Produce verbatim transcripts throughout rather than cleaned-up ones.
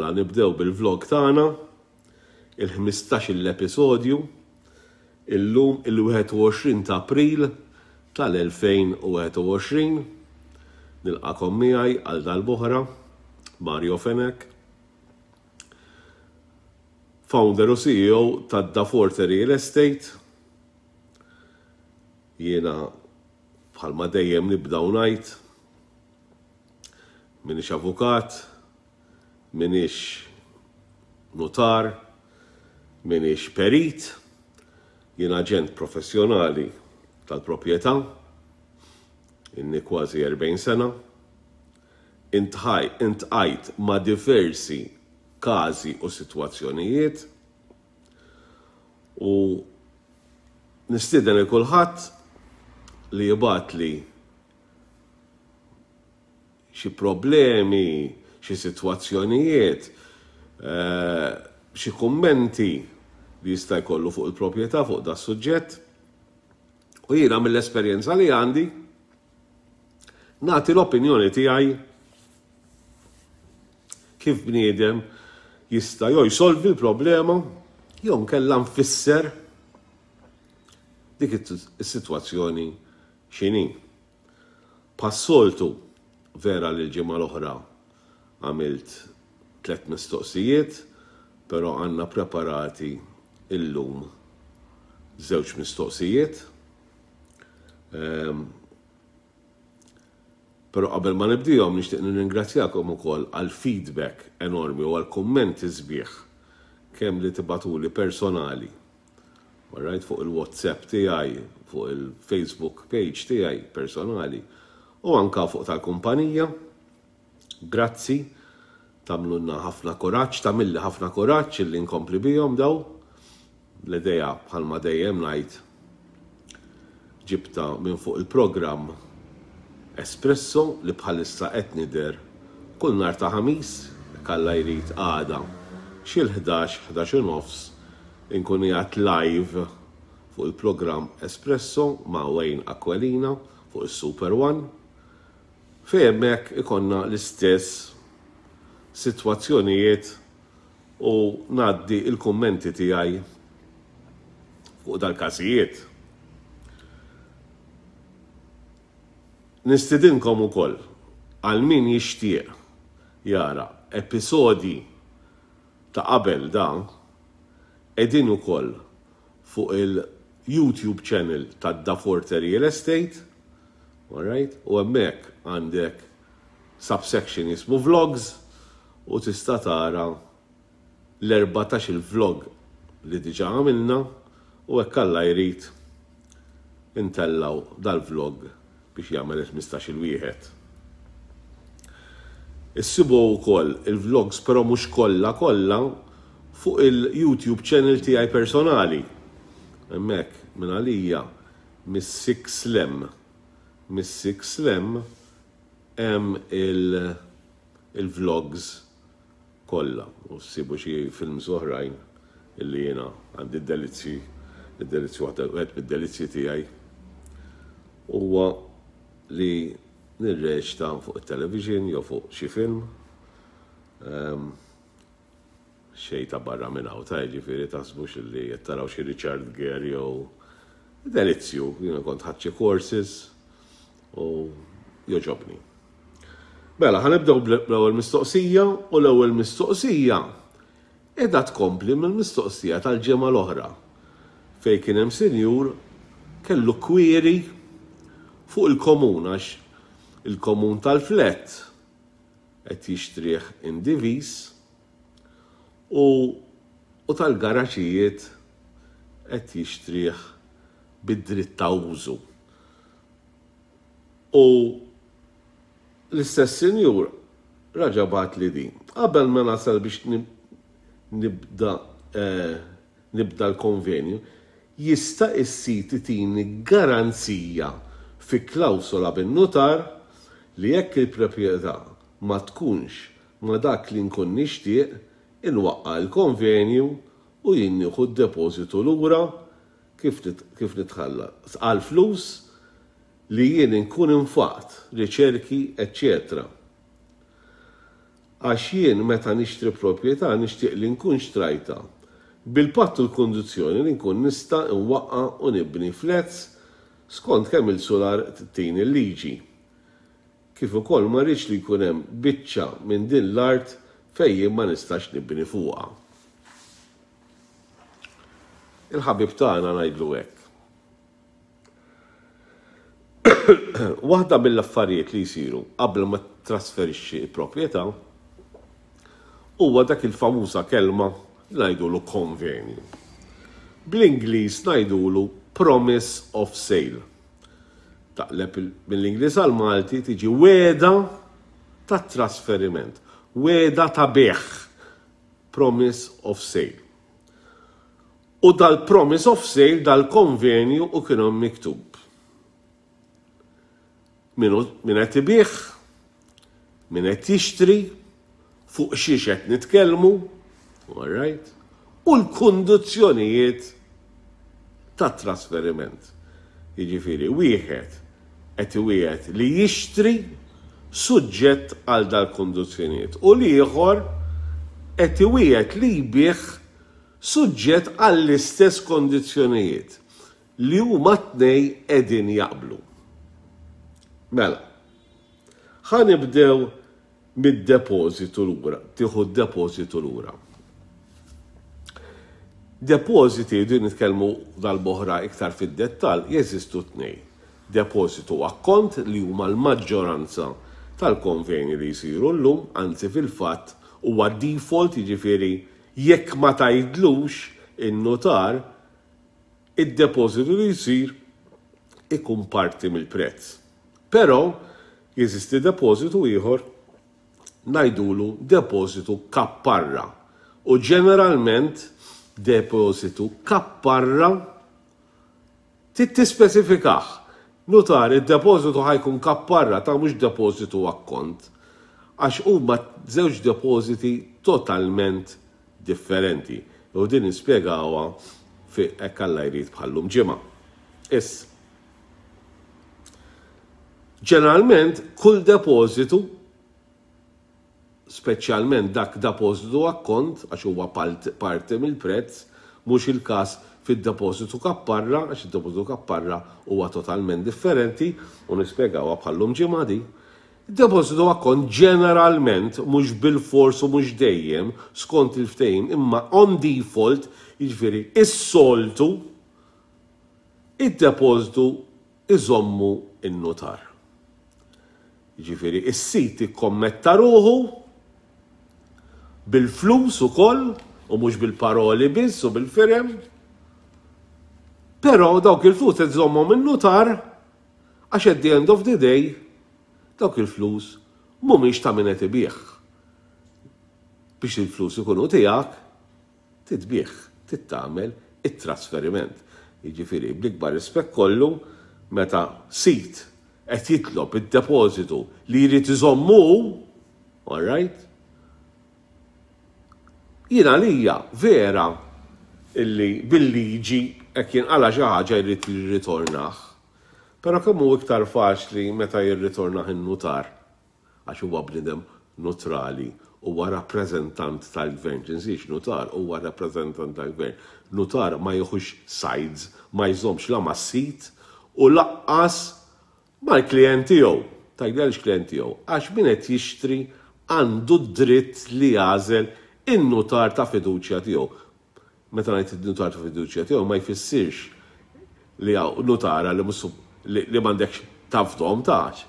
Mela nibdew bil-vlog tagħna, il-ħmistax-il episodju, illum il-wieħed u għoxrin ta' April tal-elfejn u wieħed u għoxrin. Nilqakom miegħi għal darb'oħra, Mario Fenech, founder u C E O ta' Daforte Real Estate. Jiena bħalma dejjem nibda u ngħid, minix avukat, minix notar, minix perit, jien aġent professjonali tal-proprjetà, inni kważi erbgħin sena, intħaj-, intqajt ma' diversi każi u sitwazzjonijiet u nistieden lil kulħadd li jibgħatli xi problemi, xi sitwazzjonijiet, eh, xi kummenti li jista' jkollu fuq il-proprjetà fuq da suġġett. U jiena mill-esperjenza li għandi nagħti l-opinjoni tiegħi kif bniedem jista' jew jsolvi l-problema jew nkella nfisser dik is-sitwazzjoni x'inhi. Passoltu vera li l-ġimgħa l-oħra għamilt tliet mistoqsijiet, però għandna preparati illum żewġ mistoqsijiet. Ehm, però qabel ma nibdihom nixtieq nirringrazzjakom ukoll għal feedback enormi u għal kummenti sbieħ kemm li tibatuli personali. All right, fuq il-WhatsApp tiegħi, fuq il-Facebook page tiegħi personali u anka fuq tal-kumpanija. Grazzi, tagħmlulna ħafna kuraġġ, tagħmilli ħafna kuraġġ illi nkompli bihom daw. L-idea bħalma dejjem ngħid ġibta minn fuq il-programm Espresso li bħalissa qed nidher kull nhar ta' Ħamis, kalla jrid għada xi l-ħdax, ħdax u nofs inkun qiegħed live fuq il-programm Espresso ma' Wayne Aquilina fuq is-Super One, fejn hemmhekk ikonna l-istess sitwazzjonijiet u ngħaddi l-kummenti tiegħi fuq dal-każijiet. Nistidinkom ukoll għal min jixtieq jara episodji ta' qabel da qegħdin ukoll fuq il-YouTube channel ta' Daforte Real Estate, all right? U hemmhekk għandek subsection jismu vlogs u tista' tara l-erbatax il-vlog li diġà għamilna u hekk Alla jrid intellaw dal-vlog biex jagħmel il-ħmistax il-wieħed. Issibu wkoll il-vlogs però mhux kollha kollha fuq il-YouTube channel tiegħi personali. Hemmhekk minn għalija mis-Six Lem. Mis-Six Lem hemm il-, il-vlogs kollha u ssibu xi films oħrajn illi jiena għandi d-delizzji, id-delizzji waħda wieħed mid-delizzji tiegħi huwa li nirreċta fuq it-television jew fuq xi film. Ehm, xejn ta' barra minn hawn, ta' jiġifieri taħsbux illi qed taraw xi Richard Gere jew delizzju, jiena kont ħadt xi courses u joġobni. Mela, ħanibdew bl-ewwel mistoqsija u l-ewwel mistoqsija qiegħda tkompli mill-mistoqsija tal-ġimgħa l-oħra fejn kien hemm sinjur kellu kwiri fuq il-komun għax il-komun tal-flet qed jixtrih indivis u, u tal-garaxijiet qed jixtrih bid-dritt ta' użu. U l-istess sinjur raġa' bagħat li din. Qabel ma nasal biex nib-, nibda, eh, nibda l-konvenju, jista' s-sit itini garanzija fi klawsola bin-nutar li jekk il-proprjetà ma tkunx ma dak li nkun nixtieq, inwaqqa' l-konvenju u jien nieħu d-depożitu lura kif nit-, kif nitħallas għal flus li jien inkun infaqt, riċerki, eċċetera. Għax jien meta nixtri proprjetà nixtieq li nkun xtrajtha bil-patt u l-kundizzjoni li nkun nista' nwaqqa' u nibni flats skont kemm il-sular tini l-liġi. Kif ukoll ma rridx li jkun hemm biċċa minn din l-art fejn jien ma nistax nibni fuqha. Il-ħabib tagħna ngħidlu hekk. Waħda mill-affarijiet li jsiru qabel ma trasferixxi l-proprjetà huwa dak il-famuża kelma li ngħidulu konvenju. Bl-Ingliż ngħidulu promise of sale. Taqleb mill-Ingliż għal Malti tiġi wegħda ta' trasferiment, wegħda ta' bejgħ, promise of sale. U dal-promise of sale, dal-konvenju u kienu miktub. Min qed ibigħ, min qed jixtri, fuq xiex qed nitkellmu, all right, u l-kundizzjonijiet ta' trasferiment. Jiġifieri wieħed qed iwiegħed li jixtri suġġett għal dal-kundizzjonijiet u l-ieħor qed iwiegħed li jbigħ suġġett għall-istess kondizzjonijiet li huma tnej qegħdin jaqblu. Mela, ħa nibdew mid-depożitu lura, tieħu d-depożitu lura. Depożiti, din nitkellmu dal-boħra iktar fid-dettall, jeżistu tnej. Depożitu akkont li huma l-maġġoranza tal-konveni li jsiru llum, anzi fil-fatt huwa default, jiġifieri jekk ma tgħidlux in-notar, id-depożitu li jsir ikun parti mill-prezz. Però jeżisti depożitu ieħor ngħidulu depożitu kapparra. U ġeneralment depożitu kapparra trid tispeċifikah. Nutar, id-depożitu ħa jkun kapparra ta' mhux depożitu akkont. Għax huma żewġ depożiti totalment differenti. U din nispjegawha fi hekk Alla jrid bħallum ġimgħa. Issa. Ġeneralment kull depożitu, speċjalment dak depożitu akkont, għax huwa parti mill-prezz, mhux il-każ fid-depożitu kapparra, għax id-depożitu kapparra huwa totalment differenti u nispjegawha bħallum ġimgħa di. Id-depożitu akkont ġeneralment mhux bil-fors u mhux dejjem skont il-ftehim, imma on default, jiġifieri is-soltu, id-depożitu iżommu in-notar. Jiġifieri is-sid ikkommetta ruħu bil-flus ukoll u mhux bil-paroli biss u bil-firem. Però dawk il-flus qed iżommhom in-notar għax at the end of the day dawk il-flus mhumiex ta' min qed ibigħ. Biex il-flus ikunu tiegħek titbigħ, titagħmel it-trasferiment. Jiġifieri bl-ikbar rispett kollu meta sid qed jitlob id-depożitu li jrid iżommu, all right? Jiena lija vera illi bil-liġi hekk jinqala xi ħaġa jrid jirritornah. Però kemm hu iktar faċli meta jirritornah in-nutar, għax huwa bniedem neutrali, huwa rappreżentant tal-gvern, tinsiex nutar huwa rappreżentant tal-gvern. Nutar ma jieħux sides, ma jżommx la mas-sid u laqqas mal-klient tiegħu. Tgħidli għaliex klient tiegħu? Għax min qed jixtri għandu dritt li jagħżel in-nutar ta' fiduċja tiegħu. Meta ngħid in-nutar ta' fiduċja tiegħu ma jfissirx li hawn nutara li mhux li, li m'għandekx tafdhom tax.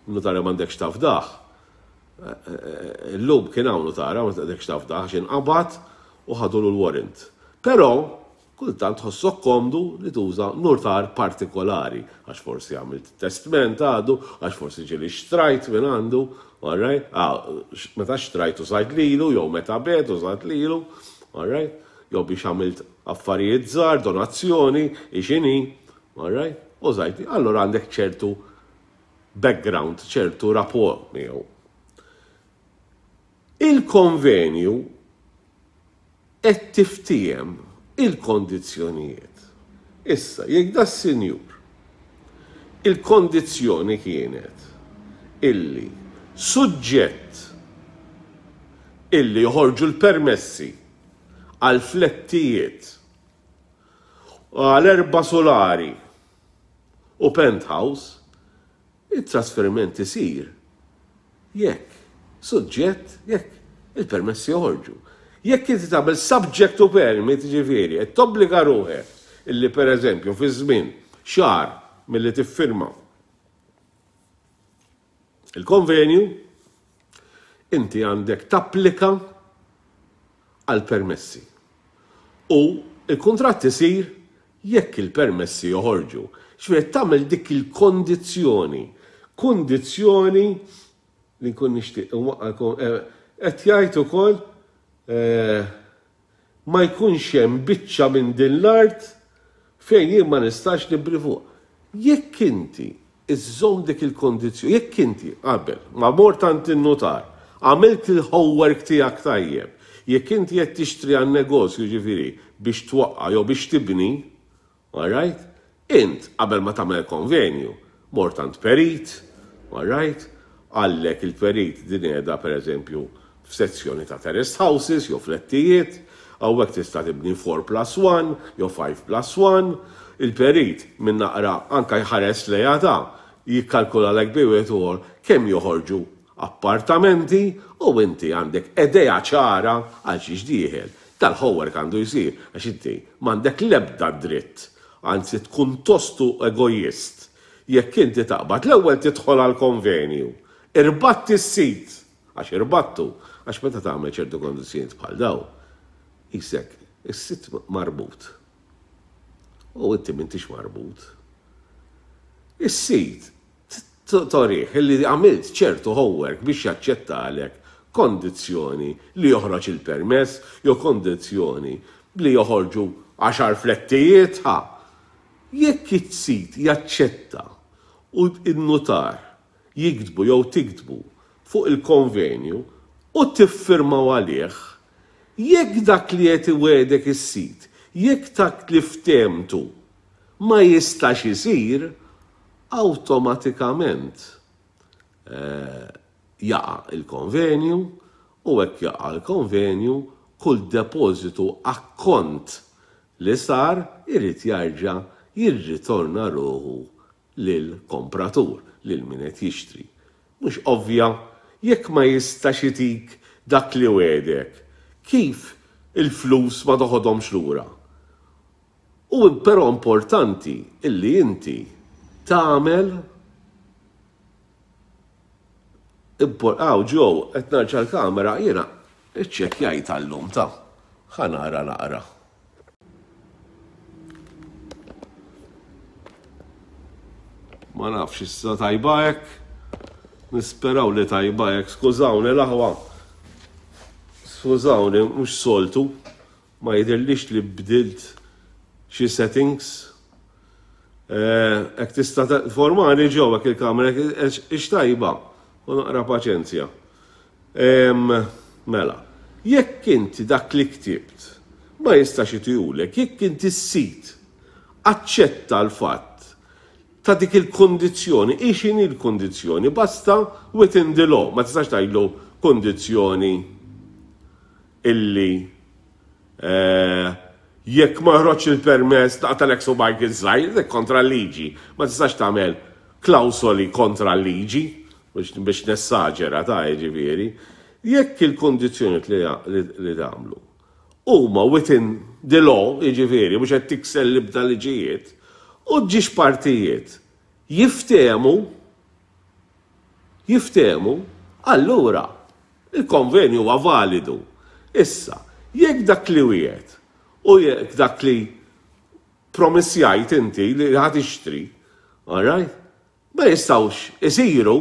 Nutara m'għandekx tafdah. Illum kien hawn nutara ma m'għandekx tafdah għax inqabad u ħadulu l-warrant. Però kultant tħossok komdu li tuża notar partikolari, għax forsi għamilt testment għadu, għax forsi ġieli xtrajt minn għandu, all right? Ah, meta xtrajt użajt lilu, jew meta bigħt użajt lilu, all right? Jew biex għamilt affarijiet żgħar, donazzjoni, ixini, all right? Użajt, allora għandek ċertu background, ċertu rapport miegħu. Il-konvenju qed tiftiehem il-kondizzjonijiet. Issa, jekk da sinjur, il-kondizzjoni kienet illi suġġett illi joħorġu l-permessi għal flettijiet, għal erba' solari u penthouse, it-trasferiment isir jekk suġġett jekk il-permessi joħorġu. Jekk inti tagħmel subject to permit, ġifieri, qed tobbliga ruħek illi pereżempju fi żmien xahar milli tiffirma il-konvenju, inti għandek tapplika għal permessi. U il-kuntratt isir jekk il-permessi joħorġu. Ġifieri tagħmel dik il-kondizzjoni, kondizzjoni li nkun nixtieq qed jgħid ukoll ma jkunx hemm biċċa minn din l-art fejn jien ma nistax nibni fuq. Jekk inti iżżomm dik il-kondizzjoni, jekk inti qabel ma mort għand in-nutar, għamilt il-homework tiegħek tajjeb, jekk inti qed tixtri għan-negozju ġifieri biex twaqqa' jew biex tibni, all right? Int qabel ma tagħmel konvenju, mort għand perit, all right? Għallek il-perit din qiegħda pereżempju f'sezzjoni ta' terraced houses jew flettijiet, hawnhekk tista' tibni four plus one jew five plus one, il-perit minn naqra anka jħares lejha ta' jikkalkulalek bi wieħed u ieħor kemm joħorġu appartamenti u inti għandek idea ċara għal xiex dieħel. Tal-homework għandu jsir għax inti m'għandek l-ebda dritt, anzi tkun tostu egoist jekk inti taqbad l-ewwel tidħol għal konvenju, irbatt is-sit, għax irbattu, għax meta tagħmel ċertu kondizzjonijiet bħal daw, isek is-sit marbut. U inti m'intix marbut. Is-sit torih illi għamilt ċertu homework biex jaċċettalek kondizzjoni li joħroġ il-permess jew kondizzjoni li joħorġu għaxar flettijiet, ha. Jekk is-sit jaċċetta u n-nutar jiktbu jew tiktbu fuq il-konvenju u tiffirmaw għalih, jekk dak li qed iwegħdek is-sit, jekk dak li ftehmtu ma jistax isir, awtomatikament jaqa' il-konvenju u hekk jaqa' l-konvenju kull depożitu akkont li sar irid jarġa' jirritorna ruħu lill-kompratur, lil min qed jixtri. Mhux ovvja, jekk ma jistax itik dak li wegħdek, kif il-flus ma toħodhomx lura? U però importanti illi inti tagħmel Aw, ġew, qed narġa' l-kamera, jiena iċċekkjajt għallum ta' ħa nara naqra. Ma nafx issa tajba hekk. Nisperaw li tajba hekk, skużawni l-aħwa. Skużawni, mhux soltu. Ma jidhirlix li bdilt xi settings. Hekk tista' formani ġew hekk il-kamera ix tajba. U naqra paċenzja. Mela, jekk inti dak li ktibt ma jistax itihulek, jekk inti s-sit aċċetta l-fatt ta' dik il-kondizzjoni, hi x'inhi l-kondizzjoni, basta within the law, ma tistax tgħidlu kondizzjoni illi jekk ma joħroġx il-permess taqtalek subgħajk iż-żgħir, dik kontra l-liġi. Ma tistax tagħmel klawsoli kontra l-liġi biex nessaġera ta' jiġifieri. Jekk il-kondizzjoni li tagħmlu huma within the law, jiġifieri mhux qed tikser l-ibda liġijiet, u ġiex partijiet jiftehmu, jiftehmu, allura il-konvenju huwa validu. Issa, jekk dak li wieħed u jekk dak li promissjajt inti li ħa tixtri, all right, ma jistgħux isiru,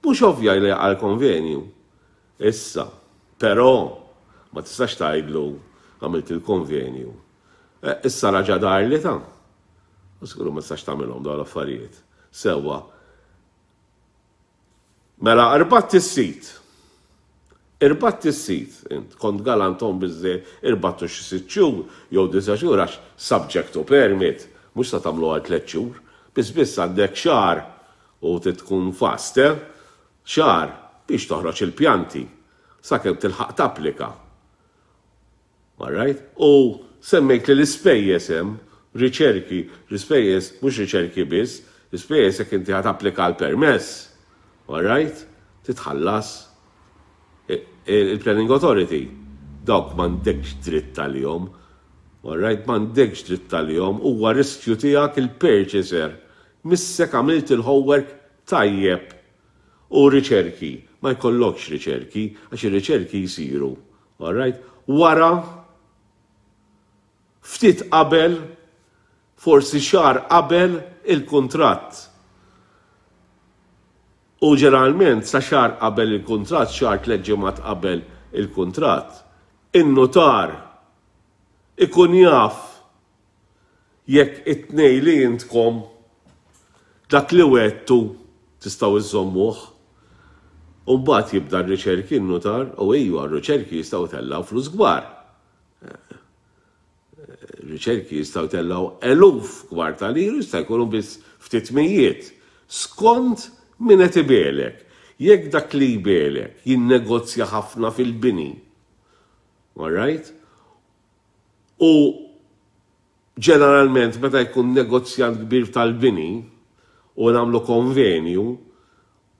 mhux ovvja li jaqa' l-konvenju. Issa, però ma tistax tgħidlu għamilt il-konvenju. Issa raġa' darli ta' u żgur ma tistax tagħmilhom dawn l-affarijiet. Sewwa. Mela irbatt is-sit. Irbatt is-sit, int kont galantom biżżejjed, irbattu xi sitt xhur jew disa' xhur għax subject to permit, mhux se tagħmlu għal tliet xhur. Biss biss għandek xahar u trid tkun fast, eh? Xahar biex toħroġ il-pjanti. Sakemm tilħaq tapplika. All right? U semmejt li l-ispejjeż hemm, riċerki, l-ispejjeż mhux riċerki biss, l-ispejjeż jekk inti ħa tapplika l-permess. All right? Titħallas il-Planning Authority. Dawk m'għandekx dritt għalihom. All right? M'għandekx dritt għalihom, huwa riskju tiegħek il-purchaser. Missek għamilt il-homework tajjeb u riċerki. Ma jkollokx riċerki, għax ir-riċerki jisiru. All right? Wara, ftit qabel, forsi xahar qabel il-kuntratt. U ġeneralment sa xahar qabel il-kuntratt, xahar tliet ġimgħat qabel il-kuntratt, in-notar ikun jaf jekk it-tnej li intkom dak li wettu tistgħu iżommuh. U mbagħad jibda r-riċerki n-notar, u ejju r-riċerki jistgħu tellgħu flus kbar. Riċerki jistgħu tellgħu eluf kbar ta' liri, jista' jkunu biss ftit mijiet. Skont min qed ibelek. Jekk dak li jbelek jinnegozja ħafna fil-bini. All right? U ġeneralment meta jkun negozjant kbir tal-bini u nagħmlu konvenju,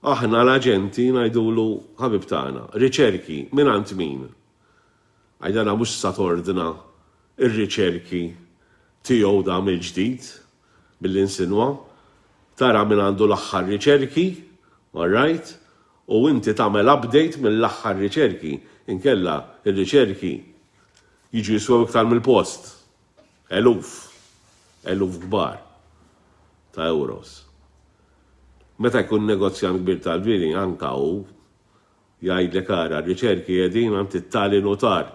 aħna l-aġenti ngħidulu ħabib tagħna, riċerki minn għand min? Għajdana mhux sa tordna ir-riċerki tiegħu da mill-ġdid mill-insinwa, tara minn għandu l-aħħar riċerki, all right? U inti tagħmel update mill-aħħar riċerki, inkella ir-riċerki jiġu jiswew iktar mill-post. Eluf, eluf kbar ta' euros. Meta jkun negozjant kbir tal-bini, anka hu jgħidlek ara riċerki qegħdin għand it-tali notar.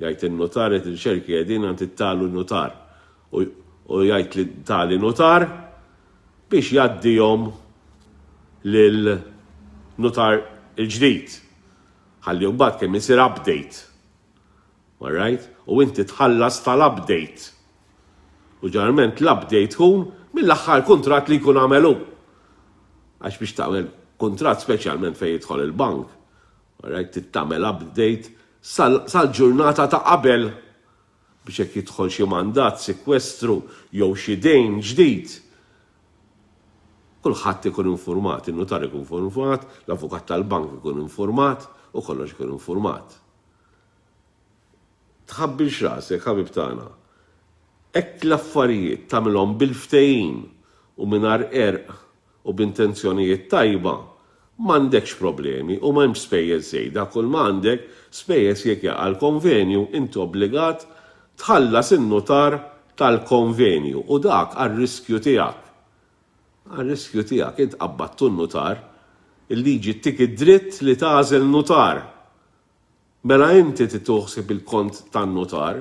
Jgħid in-notar ir-riċerki qegħdin għand it-tali notar. U jgħid li tali notar biex jgħaddihom lil notar il-ġdid. Ħalli mbagħad kemm isir update. All right? U inti tħallas tal-update. U ġeneralment l-update tkun mill-aħħar kuntratt li jkun għamelu. Għax biex tagħmel kuntratt speċjalment fejn jidħol il-bank, all right, tagħmel update sal-ġurnata ta' qabel biex jekk jidħol xi mandat, sekwestru jew xi dejn ġdid. Kulħadd ikun informat, in-notar ikun informat, l-avukat tal-bank ikun informat u kollox ikun informat. Tħabbilx rasek, ħabib tagħna. Hekk l-affarijiet tagħmilhom bil-ftehim u mingħajr qerq u b'intenzjonijiet tajba, m'għandekx problemi u m'hemmx spejjeż żejda, kull ma għandek spejjeż jekk jaqa' l-konvenju inti obbligat tħallas in-notar tal-konvenju u dak għar-riskju tiegħek. Għar-riskju tiegħek int qabbattu n-notar, il-liġi ttik id-dritt li tagħżel notar. Mela inti tituħsib il-kont tan-notar.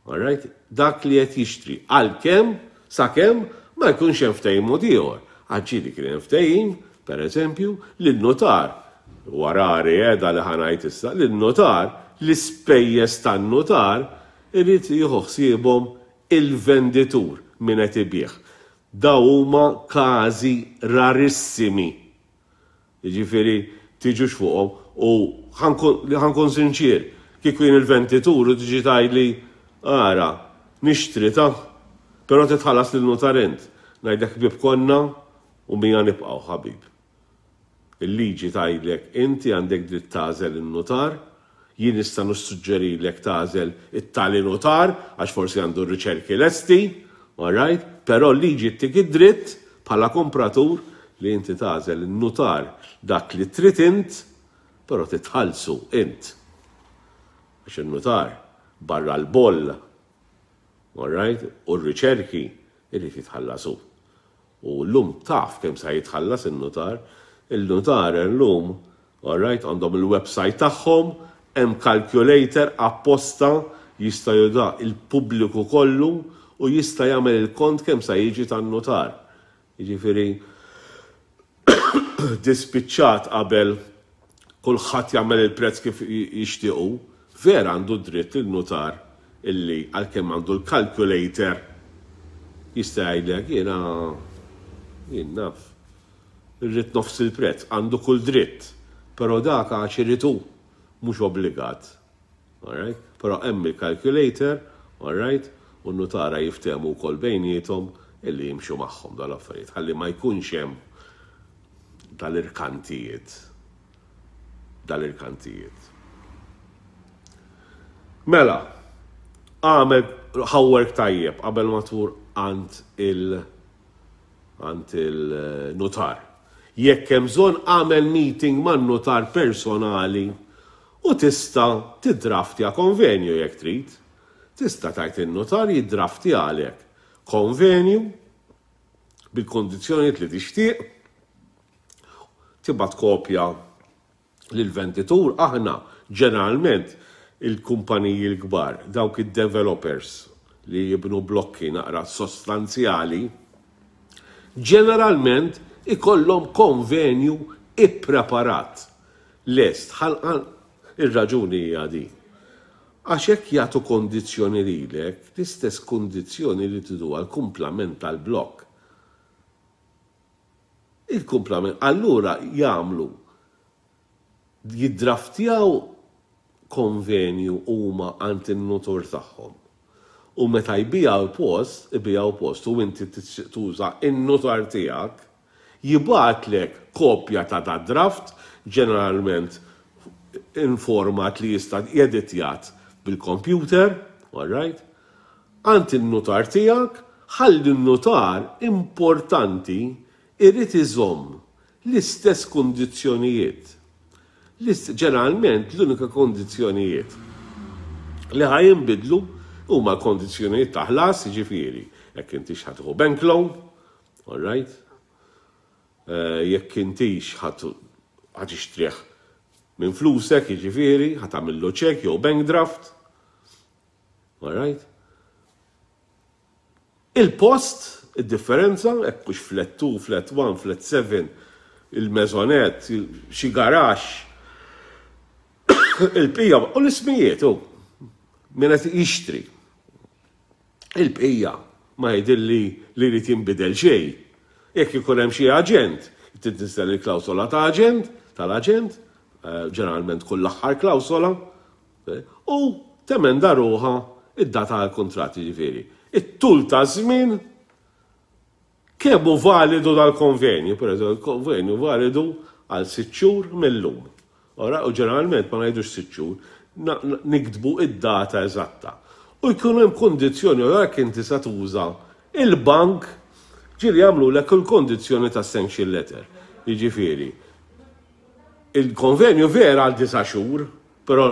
All right? Dak li qed jixtri għalkemm sakemm ma jkunx hemm ftehim mod ieħor. Għax ġieli kien hemm ftehim, per eżempju, li n-notar, warari qiegħda li ħa ngħid issa, li n-notar, l-ispejjeż tan-notar irid jieħu ħsiebhom il-venditur min qed ibigħ. Daw huma każi rarissimi. Jiġifieri tiġux fuqhom u ħa nkun sinċier, kieku jien il-venditur u tiġi tgħidli ara, nixtri ta' però titħallas lin-notar int. Ngħidlek ħbieb konna u mija nibqgħu ħabib. Il-liġi tgħidlek inti għandek dritt tagħżel in-notar, jien nista' nissuġġerilek tagħżel it-tali notar għax forsi għandu r-riċerki lesti, all right? Però l-liġi ttik id-dritt bħala kompratur li inti tagħżel in-notar dak li trid int, però titħallsu int. Għax in-notar barra l-boll, all right? U r-riċerki irid jitħallasu. U llum taf kemm sa jitħallas in-notar, il-notar llum, all right, għandhom il-website tagħhom, hemm calculator apposta jista' juża il-pubbliku kollu u jista' jagħmel il-kont kemm sa jiġi tan-notar. Jiġifieri dispiċċat qabel kulħadd jagħmel il-prezz kif jixtiequ, vera għandu dritt il-notar illi għalkemm għandu l-calculator jista' jgħidlek jiena jien naf. Irrid nofs il-prezz, għandu kull dritt, però dak għax irid hu. Mhux obbligat. Alright? Però hemm il-calculator, alright? U n-nutara jiftehmu wkoll bejniethom illi jimxu magħhom dal-affarijiet. Ħalli ma jkunx hemm dal-irkantijiet. Dal-irkantijiet. Mela, għamel homework tajjeb qabel ma tmur għand il- għand il-notar. Jekk hemm bżonn, għamel meeting man-notar personali u tista' tiddraftja konvenju jekk trid. Tista' tgħid in-notar jiddraftja għalek konvenju bil-kondizzjonijiet li tixtieq, tibgħat kopja lill-venditur. Aħna ġeneralment il-kumpaniji l-kbar, dawk id-developers li jibnu blokki naqra sostanzjali, ġeneralment ikollhom konvenju ippreparat. Lest, ir-raġuni hija di. Għax jekk jagħtu kondizzjoni lilek, l-istess kondizzjoni li tridu għal kumplament tal-blokk. Il-kumplament, allura jagħmlu jiddraftjaw konvenju huma għand in-notar tagħhom. U meta jbijaw post, ibijaw post u inti tuża in-notar tiegħek, jibgħatlek kopja ta' da draft, ġeneralment in format li jista' jeditjat bil-computer, all right? Għand in-notar tiegħek, ħalli n-notar, importanti, irid iżomm l-istess kondizzjonijiet. Ġeneralment l-unika kondizzjonijiet li ħa jinbidlu huma kondizzjonijiet ta' ħlas, jiġifieri, jekk intix ħa tieħu bank loan, all right? Eh, jekk intix ħa tixtrih minn flusek, jiġifieri, ħa tagħmillu ċek jew bank draft. All right? Il-post, il-differenza, jekk hux flat two, flat one, flat seven, il-maisonette, xi garaxx, il-bqija, u l-ismijiet, u min qed jixtri. Il-bqija ma jidhirli li li jinbidel xejn. Jekk ikun hemm xi aġent, tinsel il-klawsola ta' aġent, tal-aġent, eh, ġeneralment kull l-aħħar klawsola, eh, u temenda ruħha id-data għal-kontrat, ġifieri. It-tul ta' żmien kemm hu validu dal-konvenju, per eżempju, il-konvenju validu għal sitt xhur mill-lum. Ora, u ġeneralment ma ngħidux sitt xhur, niktbu id-data eżatta. U jkun hemm kondizzjoni, u jekk inti sa tuża il-bank, ġieli jagħmlulek il-kondizzjoni ta' sanction letter. Jiġifieri, il-konvenju vera għal disa' xhur, però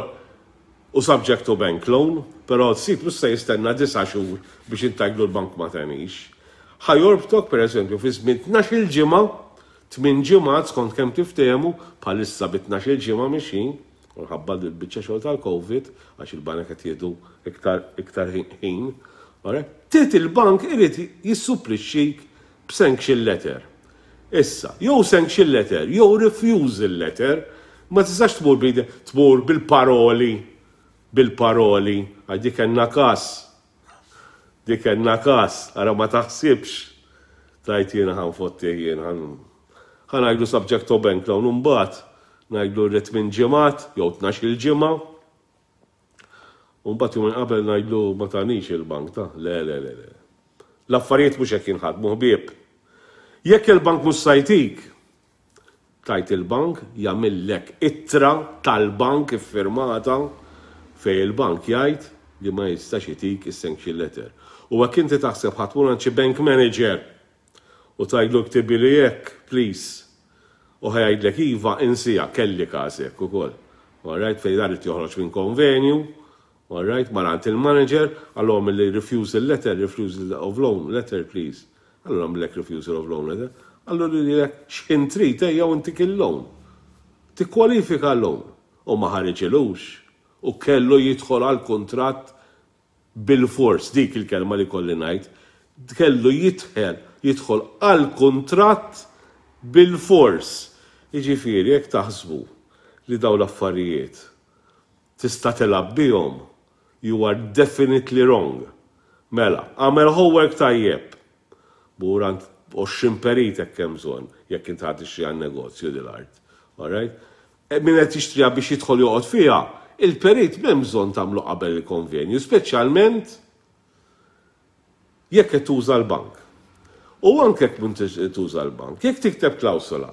u subject to bank loan, però s-sid mhux se jistenna disa' xhur biex intgħidlu l-bank ma tanix. Ħa jorbtok, per eżempju, fi żmien tnax-il ġimgħa, tmien ġimgħat skont kemm tiftehmu, bħalissa bi tnax-il ġimgħa mixin, u ħabba l-biċċa xogħol tal-Covid, għax il-banek qed jieħdu iktar iktar ħin. Trid il-bank irid jissupplixxik b'sanction letter. Issa, jew sanction letter, jew refusal letter, ma tistax tmur tmur bil-paroli, bil-paroli, għax dik kellna kas. Dik kellna kas, ara ma taħsibx. Tajt jiena ħa nfotti jiena ħa ngħidlu subject to bank loan, mbagħad ngħidlu rrid tmien ġimgħat jew tnax-il ġimgħa. U mbagħad jum qabel ngħidlu ma tanix il-bank ta' le le le le. L-affarijiet mhux hekk jinħadmu, ħbieb. Jekk il-bank mhux se jtik, tgħid il-bank jagħmillek ittra tal-bank iffirmata fej il-bank jgħid li ma jistax jitik is-sanction letter. U jekk inti taħseb ħa tmur xi bank manager u tgħidlu ktibli hekk, please. U ħa jgħidlek iva, insieha. Kelli każ hekk ukoll. Alright, fej dar joħroġ minn konvenju, alright, mar għand il-manager, qallu li refusal letter, refusal of loan letter, please. Qallu għamillek refusal of loan letter. Qallu li li x'ħin trid ejja u ntik il-loan. Tikkwalifika l-loan. U ma ħariġilux. U kellu jidħol għal kontratt bil-fors, dik il-kelma li kolli ngħid, kellu jidħel, jidħol għal kontratt bil-fors. Jiġifieri, jekk taħsbu li daw l-affarijiet tista' tilgħab bihom, you are definitely wrong. Mela, għamel homework tajjeb. Mur għand għoxrin perit hekk hemm bżonn, jekk inti ħa tixtri għan negozju dil-art. Alright? Min qed jixtriha biex jidħol joqgħod fiha, il-perit m'hemm bżonn tagħmlu qabel il-konvenju, speċjalment jekk qed tuża l-bank. U anke jekk m'intix tuża l-bank, jekk tikteb klawsola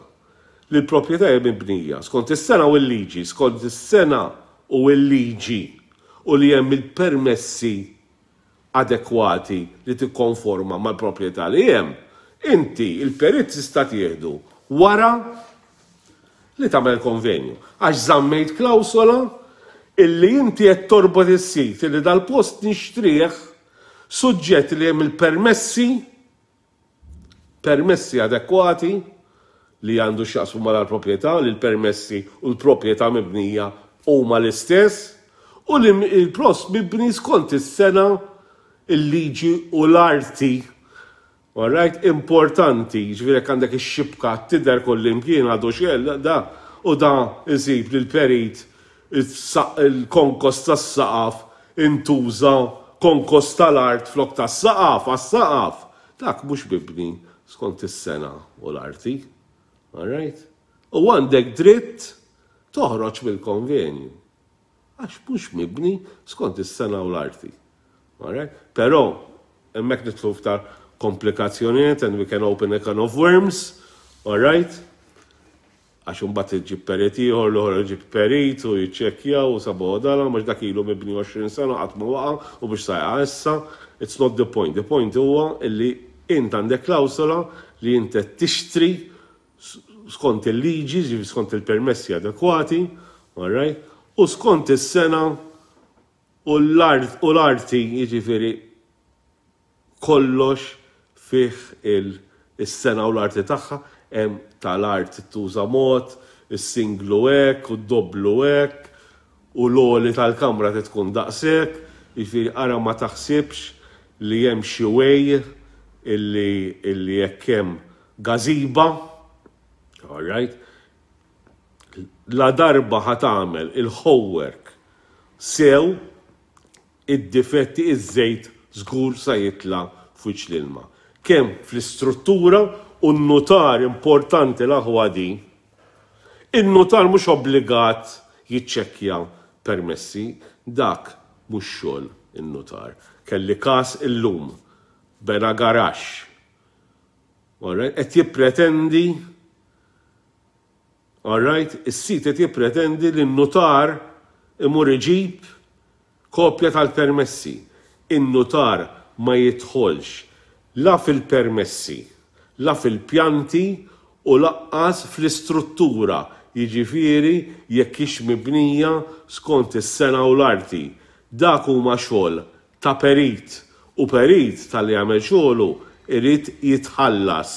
li l-proprjetà hija mibnija skont is-sena u l-liġi, skont is-sena u l-liġi u li hemm il-permessi adekwati li tikkonforma mal-proprjetà li hemm, inti il-perit tista' tieħdu wara li tagħmel konvenju. Għax żammejt klawsola illi inti qed torbot is-sit illi dal-post nixtrih suġġett li hemm il-permessi permessi adekwati li għandu x'jaqsmu mal-proprjetà, li l-permessi u l-proprjetà mibnija huma l-istess u li il-post mibni skont is-sena, il-liġi u l-arti. Alright, importanti, ġifieri jekk għandek ix-xibka tidher kullimkien għadu xel, da, u da isib li l-perit il-konkos tas-saqaf intuża konkos tal-art flok tas-saqaf, għas-saqaf. Dak mhux mibni skont is-sena u l-arti. Alright? U għandek dritt toħroġ mill-konvenju. Għax mhux mibni skont is-sena u l-arti. Alright? Però, hemmhekk nidħlu f'tar komplikazzjonijiet and we can open a can of worms, alright? Għax imbagħad iġib perit ieħor, l-oħra iġib perit u jiċċekkjaw u sabu dala, mhux dak ilu mibni għoxrin sena qatt ma waqa' u biex sajqa issa, it's not the point. The point huwa illi int għandek klawsola li int qed tixtri skont il-liġi, ġifieri skont il-permessi adekwati, alright? U skont is-sena u l-arti, jiġifieri kollox fih il-sena u l-arti tagħha, hemm tal-art tuża mod, is-singlu hekk u d-doblu hekk, u l-għoli tal-kamra tkun daqshekk, jiġifieri ara ma taħsibx li hemm xi way illi illi jekk hemm gazebo, all right, la darba ħa tagħmel il-homework sew, id-difetti, iż-żejt żgur sa jitla' fuq l-ilma. Kemm fl-istruttura u n-notar, importanti l-aħwa di, in-notar mhux obbligat jiċċekkja permessi, dak mhux xogħol in-notar. Kelli każ illum, bena garaxx. Qed jippretendi, alright, is-sit qed jippretendi li n-notar imur iġib kopja tal-permessi. In-notar ma jidħolx la fil-permessi, la fil-pjanti u lanqas fl-istruttura, jiġifieri jekk hix mibnija skont is-sena u l-arti. Dak huma xogħol ta' perit u perit tal-li jagħmel xogħlu irid jitħallas.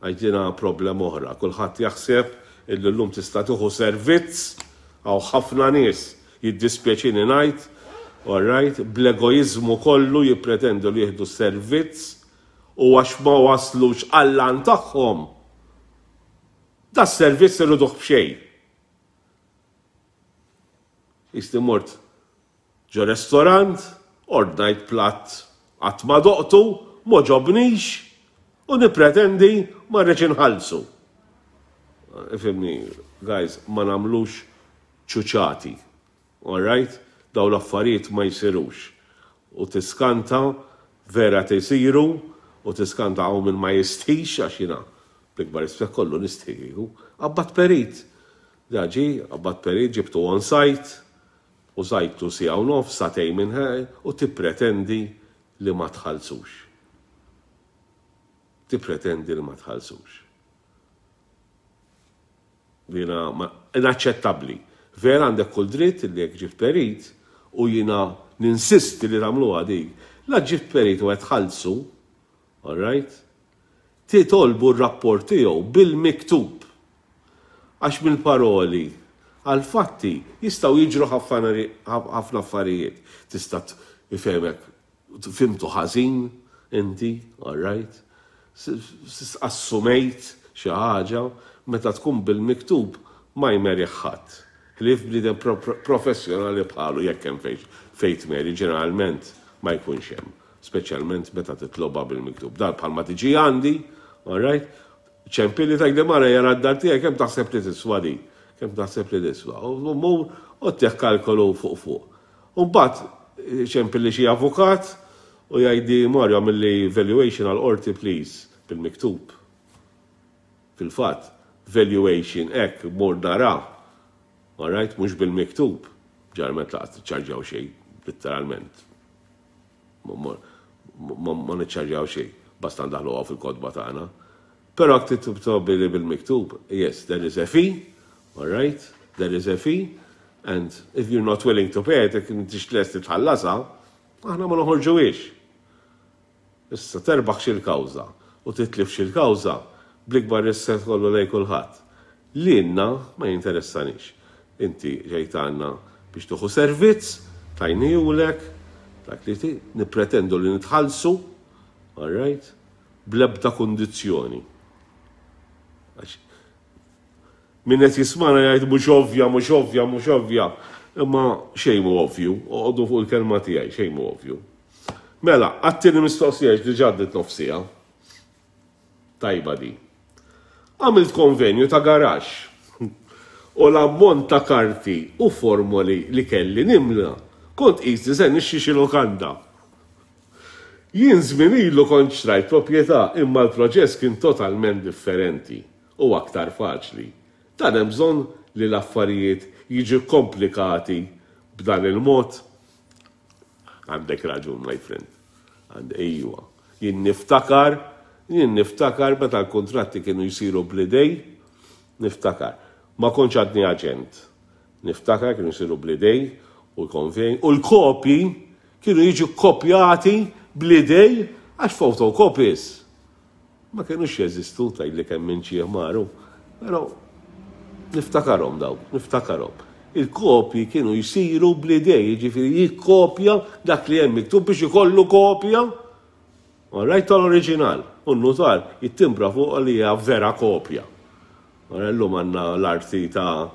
Għajdina problem oħra, kulħadd jaħseb illi llum tista' tieħu servizz, hawn ħafna nies, jiddispjaċini ngħid, all right, bl-egoizmu kollu jippretendu li jieħdu servizz u għax ma waslux għall-għan tagħhom, da servizz iriduh b'xejn. Jisti mort ġo restorant, ordnajt platt qatt ma doqtu, m'għoġobnix u nipretendi ma rridx inħallsu. Ifhimni, guys, ma nagħmlux ċuċati. All right? Daw l-affarijiet ma jsirux. U tiskanta vera tisiru u tiskanta hawn min ma jistħix, għax jiena bl-ikbar rispett kollu nistħi kieku. Qabbadt perit. Daġi, qabbadt perit, ġibtu on site, u żajtu siegħa u nofs, sagħtejn minn ħej, u tippretendi li ma tħallsux. Tippretendi li ma tħallsux. Jiena inaċċettabbli. Vera għandek kull dritt li jekk ġibt perit u jiena ninsisti li tagħmluha dik. La ġibt perit u qed tħallsu, all right? Titolbu r-rapport tiegħu bil-miktub. Għax mill-paroli għal-fatti jistgħu jiġru ħafna affarijiet. Tista' ifhemek, fhimtu ħażin inti, all right? Assumejt xi ħaġa, meta tkun bil-miktub ma jmerih ħadd. Ħlief bniedem professjonali bħalu, jekk hemm fejn tmeri, ġeneralment ma jkunx hemm, speċjalment meta titloba bil-miktub. Dan bħalma tiġi għandi, all right? Ċempilli, tgħidli, "Mara, jara d-dar tiegħek, kemm taħseb li tiswa di? Kemm taħseb li tiswa?" U mur u ttih kalkolu fuq fuq. U mbagħad ċempilli xi avukat u jgħidli, "Mario, għamilli valuation għal-qorti, please," bil-miktub. Fil-fatt, valuation hekk mur nara. Alright, mhux bil-miktub. Ġarmet laqas tiċċarġaw xejn, literalment. Ma niċċarġaw xejn, basta ndaħluha fil-kotba tagħna. Però jekk titlob bil-miktub, yes, there is a fee, alright, there is a fee, and if you're not willing to pay it, jekk m'intix lest tħallasha, aħna ma noħorġuhiex. Issa terbaħ xil-kawża u titlif xil-kawża, bl-ikbar rispett kollu lej kulħadd. Lilna ma jinteressanix. Inti ġejt għandna biex tieħu servizz, tajnihulek, dak li ti, nipretendu li nitħallsu, all right, bl-ebda kundizzjoni. Min qed jismagħna jgħid, "Mhux ovvja, mhux ovvja, mhux ovvja." Imma xejn mhu ovvju, oqogħdu fuq il-kelma tiegħi, xejn mhu ovvju. Mela, għat-tieni mistoqsija, diġà għaddiet nofs siegħa. Tajba di. Għamilt konvenju ta' garaxx u l-ammont ta' karti u formoli li kelli nimla, kont qisni se nixtri xi lokanda. Jien żmien ilu kont xtrajt proprjetà, imma l-proċess kien totalment differenti u aktar faċli. Dan hemm bżonn li l-affarijiet jiġu komplikati b'dan il-mod? Għandek raġun, my friend. Għand ejwa. Jien niftakar, jien niftakar meta l-kontratti kienu jsiru bl-idejn, niftakar. Ma kontx għadni aġent. Niftakar kienu jsiru bl-idejn u l-konvej, u l-kopji kienu jiġu kopjati bl-idejn għax photocopies ma kienux jeżistu, tgħidli kemm minn xi maru. Però niftakarhom daw, niftakarhom. Il-kopji kienu jsiru bl-idejn, jiġifieri jikkopja dak li hemm miktub biex ikollu kopja. Alright, tal-oriġinal. U n-notar jittimbra fuq li hija vera kopja. Illum għandna l-arti ta'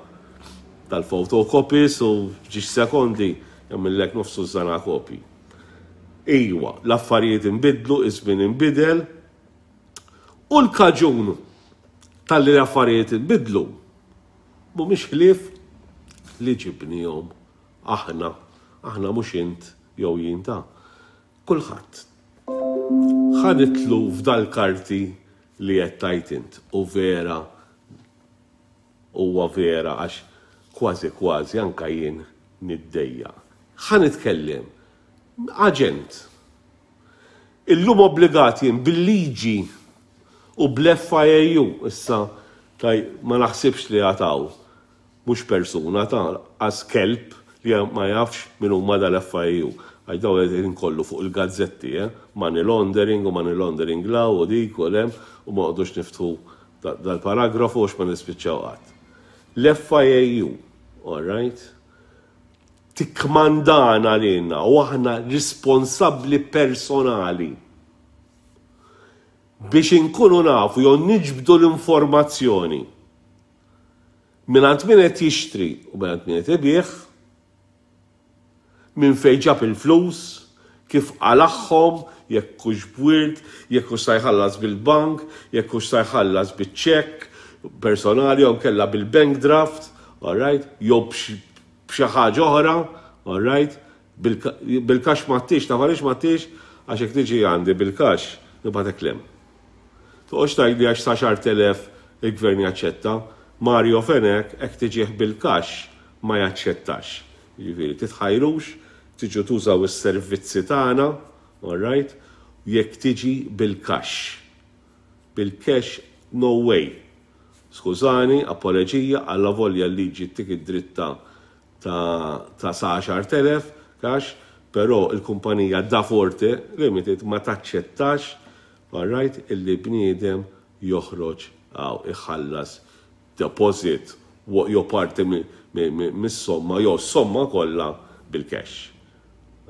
tal-photocopies u f'ġiex sekondi jagħmillek nofsu żana kopji. Iwa, l-affarijiet inbidlu, iż-żmien inbidel, u l-kaġun tal-li l-affarijiet inbidlu mhumiex ħlief li ġibnihom aħna, aħna, mhux int jew jien ta'. Kulħadd. Ħa nidħlu f'dal-karti li qed tgħid int u vera, huwa vera, għax kważi kważi anka jien niddejjaq. Ħa nitkellem aġent. Illum obbligat jien bil-liġi u bl-F I A U, issa taj ma naħsibx li għataw mhux persuna ta' għas kelb li ma jafx min huma dal-F I A U. Għax daw qegħdin kollu fuq il-gazzetti, eh? Money laundering u money laundering law u dik u lem u ma għodux niftħu dal-paragrafu għax ma nispiċċaw qatt. L-F I A U, all right, tikkmandana lilna u aħna responsabbli personali biex inkunu nafu jew niġbdu l-informazzjoni mingħand min qed jixtri u mingħand min qed ibigħ, minn fejn ġab il-flus, kif qalagħhom, jekk hux b'wirt, jekk hux sa jħallas bil-bank, jekk hux sa jħallas biċ-ċekk personali jew kella bil-bank draft, all right, jew b'xi ħaġa oħra, all right, bil-cash m'għadtix, taf għaliex m'għadtix? Għax jekk tiġi għandi bil-cash, nibgħatek 'l hemm. Toqgħodx tgħidli għax sa għaxart elef il-gvern jaċċetta. Mario Fenech hekk tiġih bil-cash ma jaċċettax. Jiġifieri titħajrux, tiġu tużaw is-servizzi tagħna, all right, jekk tiġi bil-cash. Bil-cash, no way. Skużani, apoloġija, għalla volja l-liġi ttik id-dritta ta' ta' sa għaxart elef cash, però il-kumpanija Da Forte Limited ma taċċettax, all right, illi bniedem joħroġ għaw iħallas deposit jew parti mis-somma jew somma kollha bil-cash.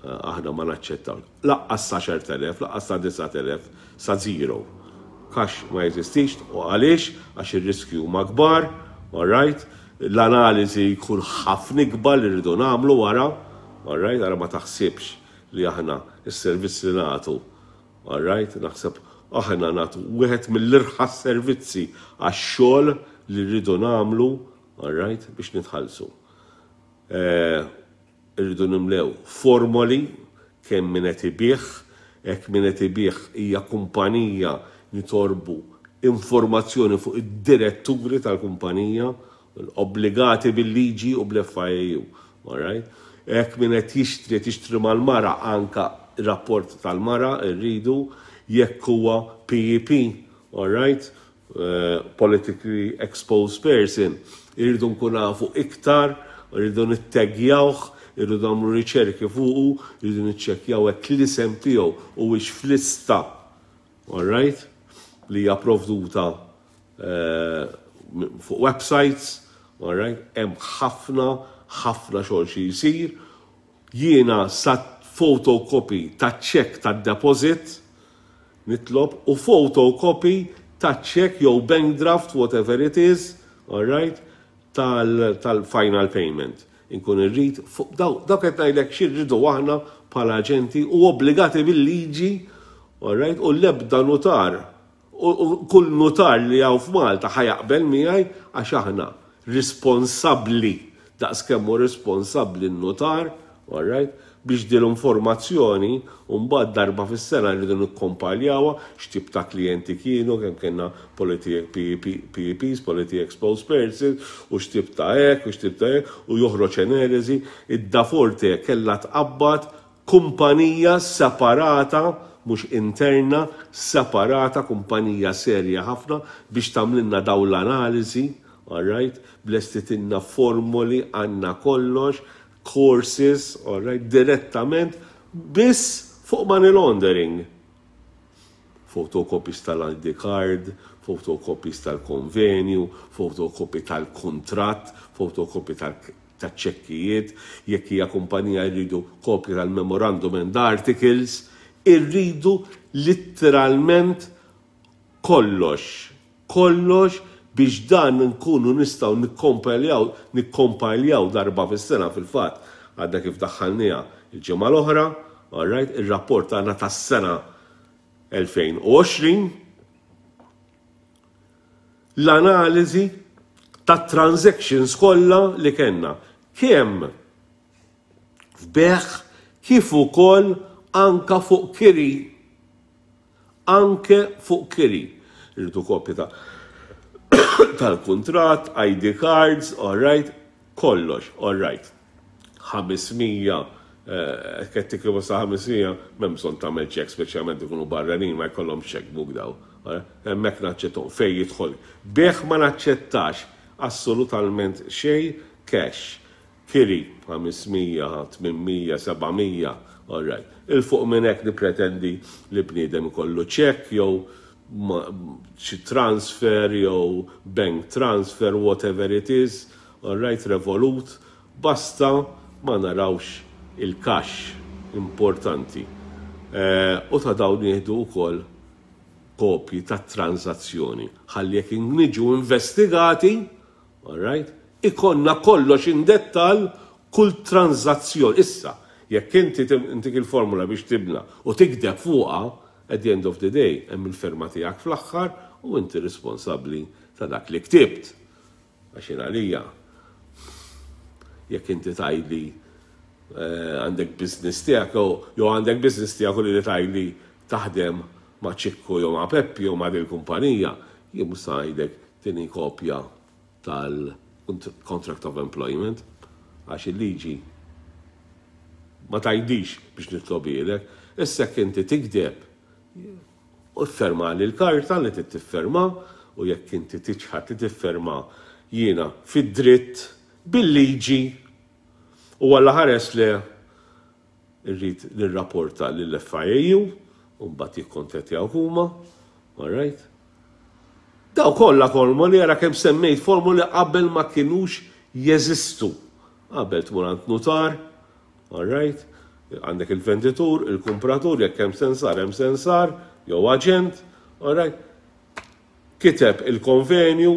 Aħna ma naċċettaw. Lanqas sa għaxart elef, lanqas sa disat elef, sa zero. Cash ma jeżistix. U għaliex? Għax ir-riskju huma kbar, all right? L-analiżi jkun ħafna ikbar li rridu nagħmlu wara, all right? Ara ma taħsibx li aħna is-servizz li nagħtu, all right? Naħseb Aħna nagħtu wieħed mill-irħas servizzi għax-xogħol li rridu nagħmlu, alright, biex nitħallsu. Eh, irridu nimlew formoli kemm min qed ibigħ, hekk min qed ibigħ hija kumpanija, nitolbu informazzjoni fuq id-diretturi tal-kumpanija, obbligati bil-liġi u bl-F I A U. Alright? Hekk min qed jixtri tixtri mal-mara, anka rapport tal-mara rridu, jekk huwa P E P, alright? Uh, politically exposed person, irridu nkun nafu iktar, irridu nittegjawh, irridu nagħmlu riċerki fuqu, irridu niċċekkjaw hekk l-isem tiegħu huwiex f'lista, alright? Li hija provduta uh, fuq websites, alright? Hemm ħafna, ħafna xogħol xi jsir. Jiena sa photocopy ta' ċekk ta' deposit nitlob u photocopy ta' ċekk jew bank draft, whatever it is, alright, tal-final payment. Inkun irrid, dawk qed ngħidlek xi rridu aħna bħala aġenti u obbligati bil-liġi, alright, u l-ebda notar, u kull notar li hawn f'Malta ħa jaqbel miegħi għax aħna responsabbli daqs kemm hu responsabbli n-notar, alright, biex din l-informazzjoni mbagħad darba fis-sena rridu nikkompaljawha x'tip ta' klijenti kienu, kemm kellna P E Ps, politically exposed persons, u x'tip ta' hekk, u x'tip ta' hekk, u joħroġ analiżi. Id-Daforte kellha tqabbad kumpanija separata, mhux interna, separata, kumpanija serja ħafna biex tagħmlilna daw l-analiżi, alright, lestitilna formoli, għandna kollox, courses, alright, direttament, biss fuq money laundering. Photocopies tal-I D card, photocopies tal-konvenju, photocopy tal-kontrat, photocopy tal-ċekkijiet, jekk hija kumpanija jridu kopja tal-memorandum and articles, irridu literalment kollox, kollox biex dan nkunu nistgħu nikkompiljaw nikkompiljaw darba fis-sena. Fil-fatt għadna kif daħħalniha il-ġimgħa l-oħra, alright, ir-rapport tagħna tas-sena elfejn u għoxrin, l-analiżi ta' transactions kollha li kellna kemm f'bejgħ kif ukoll anka fuq kiri, anke fuq kiri. Irridu kopja ta' tal-kontrat, I D cards, all right, kollox, all right. ħames mija, qed tikribu sa ħames mija, m'hemm bżonn tagħmel ċekk, speċjalment ikunu barranin, ma jkollhom checkbook daw. Hemmhekk naċċettahom fejn jidħol. Bejgħ ma naċċettax assolutament xejn cash. Kiri, ħames mija, tmien mija, seba' mija, all right. 'Il fuq minn hekk nipretendi li bniedem ikollu ċekk jew xi transfer jew bank transfer, whatever it is, all right, Revolut, basta ma narawx il-cash, importanti. Eh, u ta' dawn nieħdu wkoll kopji ta' transazzjoni. Ħalli jekk niġu investigati, all right, ikollna kollox in dettal kull transazzjoni. Issa, jekk inti intik il-formula biex tibna u tikdeb fuqha, at the end of the day, hemm il-firma tiegħek fl-aħħar u inti responsabbli ta' dak li ktibt. Għax għalija, jekk inti tgħidli eh, għandek business tiegħek jew għandek business tiegħek u li tgħidli taħdem ma' Ċikku jew ma' Peppi jew ma' dil-kumpanija, jien mhux ngħidlek tini kopja tal-contract of employment, għax il-liġi ma tgħidix biex nitlobilek. Issa inti tikdeb u ffirma li l-karta li tifferma u jekk inti tiċħad li tifferma, jiena fid-dritt bil-liġi u għalla ħares li irrid nirrapporta lill-F I A U u mbagħad jikkontattjaw huma, all right? Daw kollha formoli, ara kemm semmejt formoli qabel ma kinux jeżistu. Qabel tmur għand notar, all right? Għandek il-venditur, il-kumpratur, jekk hemm sensar, hemm sensar, jew aġent, all right? Kiteb il-konvenju,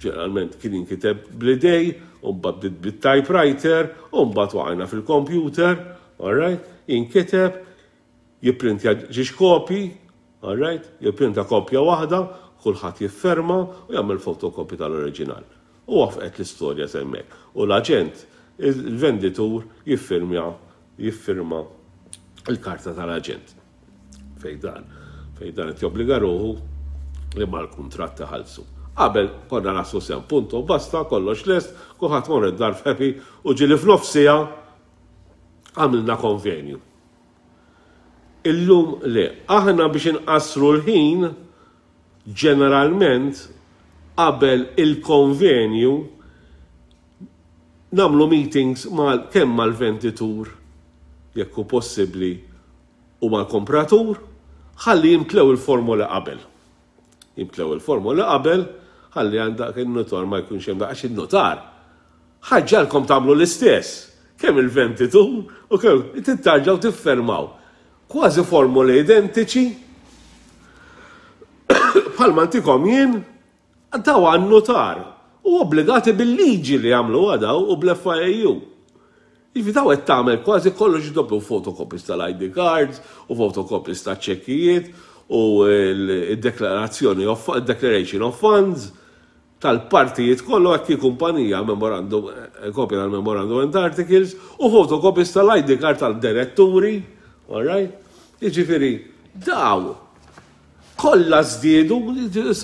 ġeneralment kien inkiteb bl-idejn, u mbagħad bit-typewriter, u mbagħad waqajna fil-computer, all right? Inkiteb, jipprintja żewġ kopji. All right? Jipprinta kopja waħda, kulħadd jifferma u jagħmel fotokopja tal-oriġinal. U waqfet l-istorja s'hemmhekk. U l-aġent, il-venditur jiffirma jiffirma il-karta tal-aġent. Fej dan, fej dan qed jobbliga ruħu li mal-kuntratt iħallsu. Qabel konna naslu s'hemm, punto, basta, kollox lest, kulħadd mor id-dar happy u ġieli f'nofs siegħa għamilna konvenju. Illum le, aħna biex inqassru l-ħin, ġeneralment qabel il-konvenju nagħmlu meetings mal kemm mal-venditur, jekk hu possibbli, u mal-kompratur, ħalli jimtlew il-formula qabel. Jimtlew il-formula qabel, ħalli għandak il-notar ma jkunx hemm, għax il-notar ħa jġagħalkom tagħmlu l-istess. Kemm il-venditur u kemm tittarġaw tiffermaw. Kważi formuli identiċi bħalma ntikom jien daw għan-notar u obbligati bil-liġi li jagħmlu daw u bl-F I A U. Jiġifieri daw qed tagħmel kważi kollox doppju, photocopies tal-I D cards u photocopies ta' ċekkijiet u l-deklarazzjoni of declaration of funds tal-partijiet kollu għakki kumpanija, memorandum, kopja tal-memorandum and articles u photocopies tal-I D card tal-diretturi, all right? Jiġifieri, daw kollha żdiedu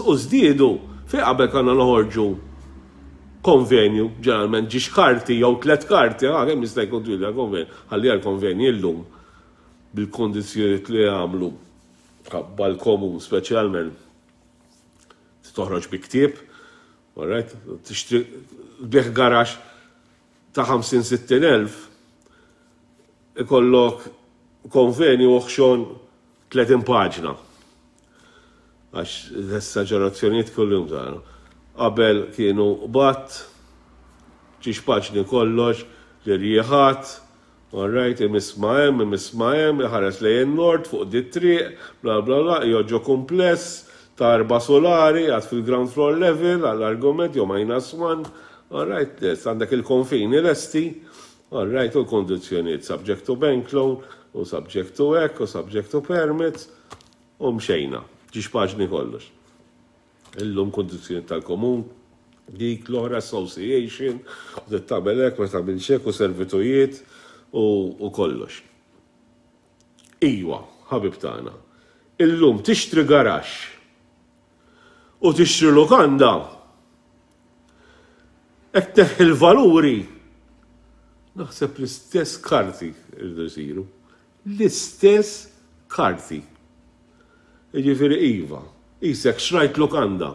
u żdiedu. Fi qabel konna noħorġu konvenju, ġeneralment ġiex karti jew tlet karti, ah, kemm jista' jkun twil konvenju, ħalli għal konvenju illum bil-kondizzjonijiet li għamlu bħal komun speċjalment toħroġ bi ktieb, all right, tixtri bieħ garax ta' ħamsin sittin elf, ikollok konvenju oħxon tletin paġna. Għax l-esagerazzjonijiet kullum saru. Qabel kienu bat, ġiex paġni kollox, l-irjiħat, all right, imiss ma' hemm, imiss ma' hemm, iħares lejn nord fuq di triq, bla bla bla, joġo kumpless ta' erba' solari, għad fil-ground floor level, għall-argument, jew minus one, all right, yes, għandek il-konfini lesti, all right, u l-kondizjoniet subject to bank loan, u subject to ek, u subject to permits, u mxejna, ġiex paġni kollox. Illum kondizjoni tal-komun, dik l-oħra association, u tagħmel hekk, ma tagħmilx hekk, u servitujiet, u, u kollox. Iwa, ħabib tagħna, illum tixtri garax u tixtri lukanda, hekk teħ il-valuri, naħseb l-istess karti irridu jsiru. L-istess karti. Jiġifieri iva, isek xrajt lukanda,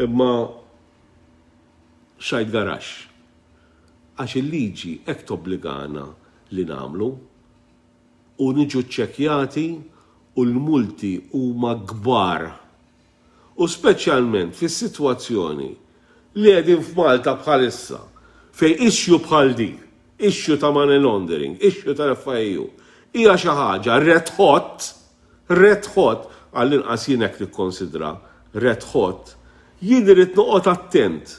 imma xrajt garax. Għax il-liġi hekk tobbligana li nagħmlu u niġu ċċekjati u l-multi huma kbar. U speċjalment fis-sitwazzjoni li qegħdin f'Malta bħalissa, fej issue bħal di, issue ta' money laundering, issue tal-F I A U, hija xi ħaġa red hot, red hot, għall-inqas jien hekk nikkonsidra red hot, jien irid noqgħod attent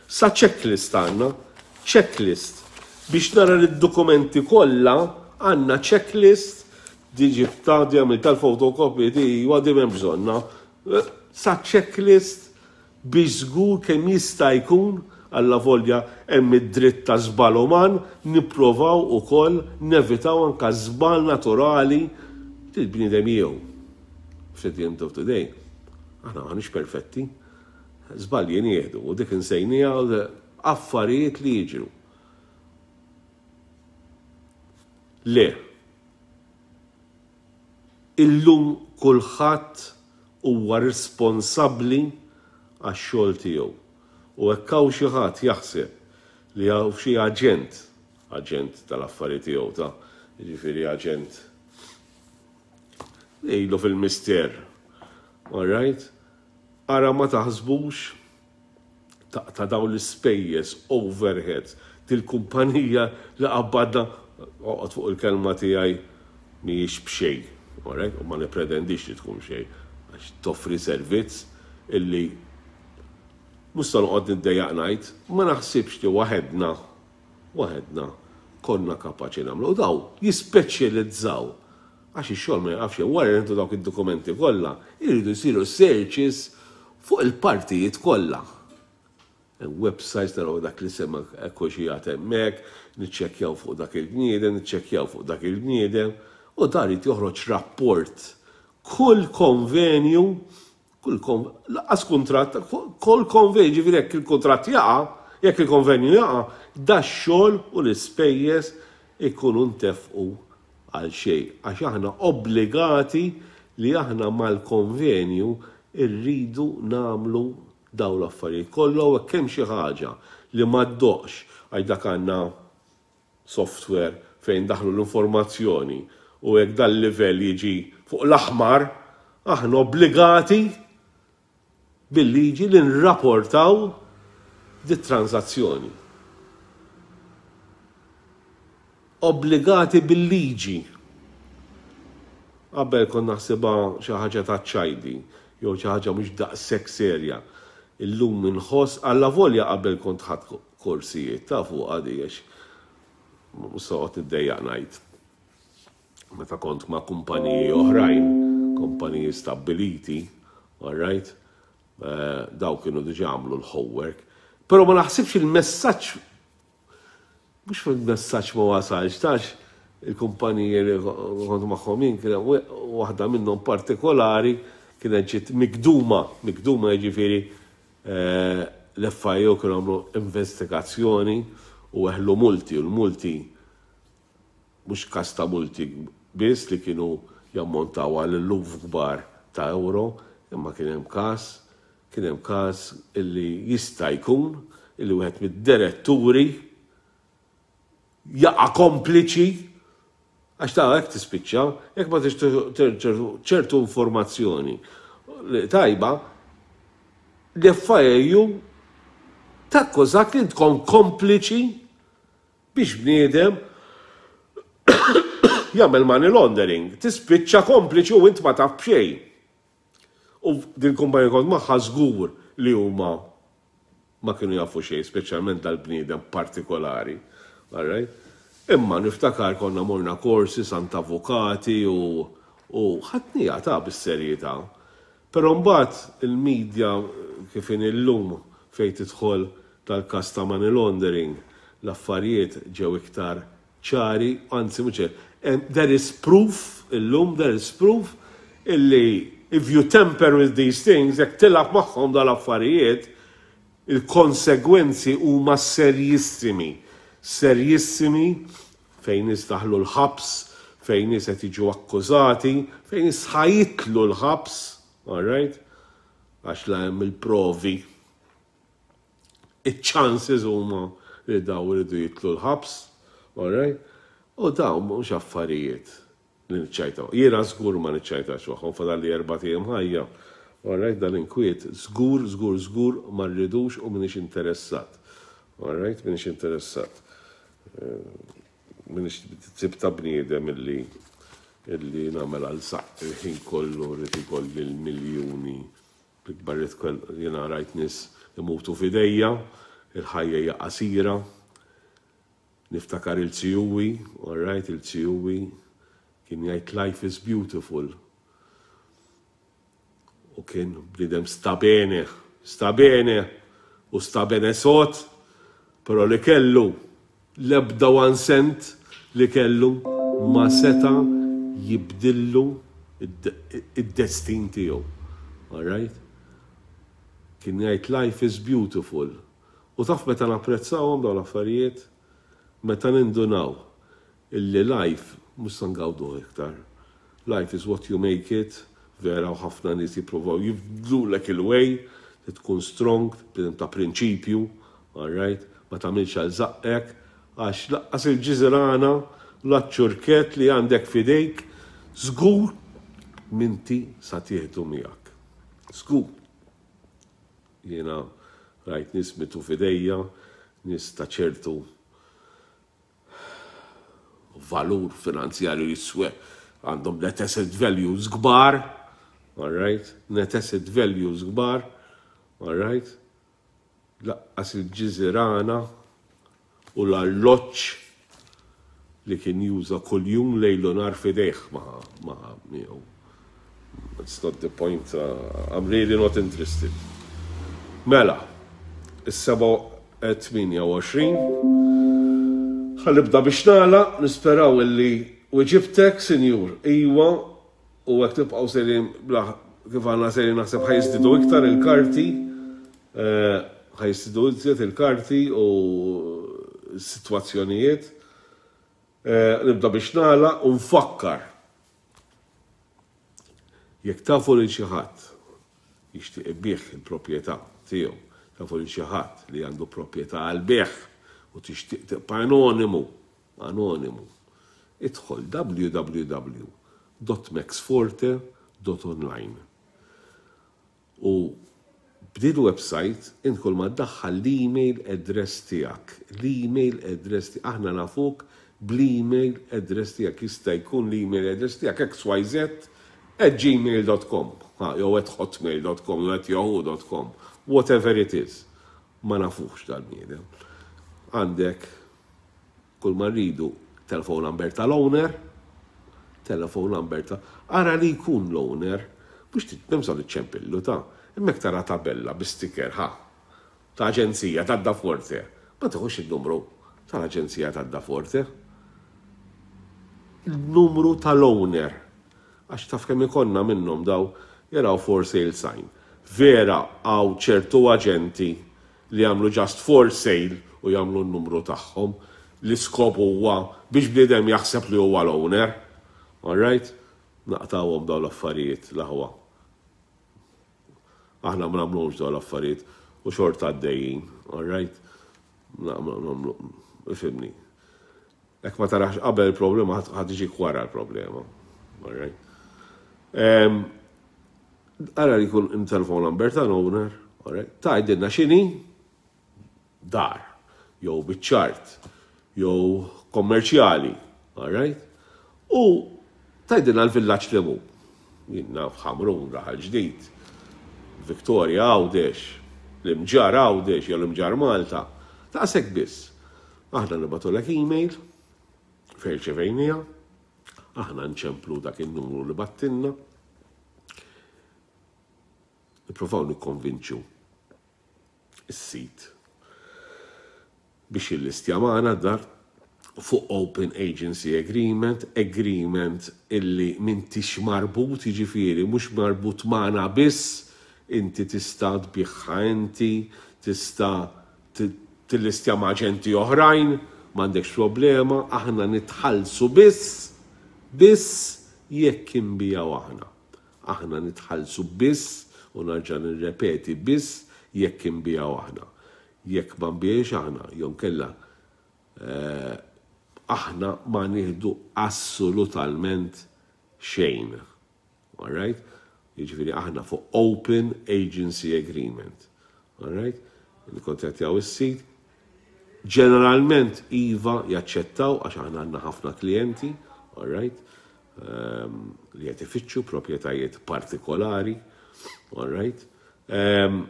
sa checklist għandna, checklist biex nara li d-dokumenti kollha għandna, checklist di ġibta, di għamil tal-fotokopi, di għadi m'hemm bżonna. Sa checklist biex żgur kemm jista' jkun, alla volja hemm id-dritt ta' żball uman, nipprovaw ukoll nevitaw anka żball naturali til-bniedem jew. At the end of the day, aħna m'aħniex perfetti. Żbalji nieħdu u dik insejnija, affarijiet li jiġru. Le. Illum kulħadd huwa responsabbli għax-xogħol tiegħu. U hekk hawn xi ħadd jaħseb li hawn xi aġent, aġent tal-affarijiet tiegħu ta', jiġifieri aġent ilu fil-mister. All right? Ara ma taħsbux ta' dawn l-ispejjeż, overheads, til-kumpanija li qabbadna, oqgħod fuq il-kelma tiegħi, mhijiex b'xejn, all right? U ma nippretendix li tkun xejn, għax toffri servizz illi mhux se noqgħod niddejjaq ngħid, ma naħsibx li waħedna waħedna konna kapaċi nagħmlu. Daw jispeċjalizzaw. Għax ix-xogħol ma jaqafx, wara li dawk id-dokumenti kollha, iridu jsiru searches fuq il-partijiet kollha. Websites, naraw dak li sema xi hemmhekk, niċċekkjaw fuq dak il-bniedem, niċċekkjaw fuq dak il-bniedem, u dan irid joħroġ rapport. Kull konvenju, kull lanqas kuntratt, kull konvenju, ġifieri jekk il-kuntratt jaqa', jekk il-konvenju jaqa', da xogħol u l-ispejjeż ikunu ntefqu għal xejn, għax aħna obbligati li aħna mal-konvenju irridu nagħmlu daw l-affarijiet kollha, u hekk hemm xi ħaġa li ma ddoqx, għax dak għandna software fejn daħlu l-informazzjoni, u jekk dal-livell jiġi fuq l-aħmar, aħna obbligati bil-liġi li nrapportaw dit transazzjoni. Obbligati bil-liġi. Qabel konna naħsibha xi ħaġa ta' ċajdi, jew xi ħaġa mhux daqshekk serja. Illum inħoss, allavolja qabel kont ħadt korsijiet ta' fuq għadi, għax mhux se noqgħod niddejjaq ngħid. Meta kont ma' kumpaniji oħrajn, kumpaniji stabbiliti, all right, eh, daw kienu diġà għamlu l-homework. Però ma naħsibx il-messaġġ, mhux fil-messaġġ ma wasalx, tax il-kumpaniji li kont magħhom jien, kien waħda minnhom partikolari kienet ġiet mikduma, mikduma jiġifieri, eh, l-F I U kienu għamlu investigazzjoni u weħlu multi, u l-multi mhux każ ta' multi biss li kienu jammontaw għal eluf kbar ta' euro, imma kien hemm każ, kien hemm każ illi jista' jkun illi wieħed mid-diretturi jaqa' kompliċi, għax ta' hekk tispiċċa, jekk ma ċertu informazzjoni tajba, l-F I U takkużak li tkun kompliċi biex bniedem jagħmel money laundering. Tispiċċa kompliċi u int ma taf b'xejn. U din kumpanija kont magħha żgur li huma ma kienu jafu xejn, speċjalment dal-bniedem partikolari. All right? Imma niftakar konna morna korsi, sant avukati u u ħadnieha ta' bis-serjetà. Però mbagħad il-medja kif in illum fejn tidħol tal-każ ta' money laundering, l-affarijiet ġew iktar ċari, anzi mhux, there is proof, illum there is proof illi if you tamper with these things, jekk tilgħab magħhom dal-affarijiet, il-konsegwenzi huma serjissimi. Serjissimi fejn nies daħlu l-ħabs, fejn nies qed jiġu akkużati, fejn nies ħa jitilgħu l-ħabs, all right? Għax la hemm il-provi. Il-chances huma li daw iridu jitilgħu l-ħabs, all right? U daw mhux affarijiet li niċċajtaw. Jiena żgur ma niċċajtax magħhom, fadalli erbat ijiem ħajja. All right, dan inkwiet, żgur, żgur, żgur ma rridux u m'iniex interessat. All right, m'iniex interessat. M'iniex tip ta' bniedem illi illi nagħmel għal saq il-ħin kollu rrid ikolli l-miljuni. L-ikbar jiena rajt nies imutu f'idejja, il-ħajja hija qasira. Niftakar il-Zijuwi, all right, il-Zijuwi kien jgħid "Life is beautiful." U kien bniedem sta bene, sta bene u sta bene sod, però li kellu l-ebda one cent li kellu ma seta jibdillu id-destin tiegħu. All right? Kien jgħid "Life is beautiful." U taf meta napprezzawhom dawn l-affarijiet? Meta nindunaw illi life mhux se ngawdu iktar. Life is what you make it, vera, u ħafna nies jippruvaw jibdlulek il-way, tkun strong, ta' prinċipju, all right? Ma tagħmilx għal żaqqek, għax lanqas il-ġiżirana, l-ċurket li għandek fidejk, żgur m'inti sa tieħdu miegħek. Żgur. Jiena rajt nies mietu f'idejja, nies ta' ċertu valur finanzjarju jiswe, għandhom net asset values kbar, all right, net asset values kbar, all right, lanqas il-ġiżirana u l-alloċ li kien juża kuljum lejl u nhar f'idejh ma ma miegħu. It's not the point, uh, I'm really not interested. Mela, is-sebgħa tmienja u għoxrin. Ħa nibda biex nagħlaq, nisperaw illi weġibtek, sinjur. Iwa, u hekk tibqgħu sejrin bla kif għandna sejrin, naħseb ħa jiżdiedu iktar il-karti, eh, ħa jiżdiedu iżjed il-karti u situazzjonijiet. Eh, nibda biex nagħlaq u nfakkar. Jekk tafu lil xi ħadd jixtieq ibigħ il-proprjetà tiegħu, tafu lil xi ħadd li għandu proprjetà għal bejgħ u tixtieq tibqa' anonimu, anonimu, idħol W W W dot maxforte dot online. U b'din website int kull ma ddaħħal l-email address tiegħek, l-email address tiegħek, aħna nafuk bl-email address tiegħek. Jista' jkun l-email address tiegħek X Y Z at gmail dot com jew at hotmail dot com jew at yahoo dot com, whatever it is. Ma nafux dal-bniedem. Għandek, kull ma rridu, telephone number tal-owner, telephone number ta' ara li jkun l-owner, mhux timsa li ċempillu ta' imma tara tabella bi sticker ħa ta' aġenzija ta' Da Forte. Ma tiħux il-numru tal-aġenzija ta' Da Forte. Il-numru tal-owner. Għax taf kemm ikollna minnhom daw jaraw for sale sign. Vera hawn ċertu aġenti li jagħmlu just "for sale" u jagħmlu n-numru tagħhom. L-iskop huwa biex bniedem jaħseb li huwa l-owner. All right? Naqtawhom daw l-affarijiet, l-aħwa. Aħna ma nagħmlux daw l-affarijiet u xorta għaddejjin, all right? Nagħmlu, ifhimni. Jekk ma tarax qabel il-problema, ħa tiġi wara l-problema. All right? Ara li jkun il-telephone number ta' owner, all right? Tgħidilna x'inhi dar, jew biċ-ċart, jew kommerċjali, all right? U tgħidilna l-villaġġ li mu. Jien naf, Ħamrun, Raħal Ġdid, Victoria Għawdex, l-Imġarr Għawdex, jew l-Imġarr Malta. Daqshekk biss. Aħna nibagħtulek email, fejn irċevejnieha, aħna nċemplu dak il-numru li bgħattilna, nippruvaw nikkonvinċu is-sit biex jillistja magħna dar fuq Open Agency Agreement, agreement illi m'intix marbut, jiġifieri mhux marbut magħna biss, inti tista' tbigħha inti, tista' tillistja ma' aġenti oħrajn, m'għandekx problema, aħna nitħallsu biss, biss jekk inbigħu aħna. Aħna nitħallsu biss, u nerġa' nirrepeti, biss jekk inbigħu aħna. Jekk ma nbigħux aħna, jew inkella eh, aħna ma nieħdu assolutament xejn. All right? Jiġifieri aħna fuq Open Agency Agreement. All right? Nikkontattjaw is-sit. Ġeneralment iva, jaċċettaw għax aħna għandna ħafna klijenti, all right? Um, li qed ifittxu proprjetajiet partikolari, all right? Um,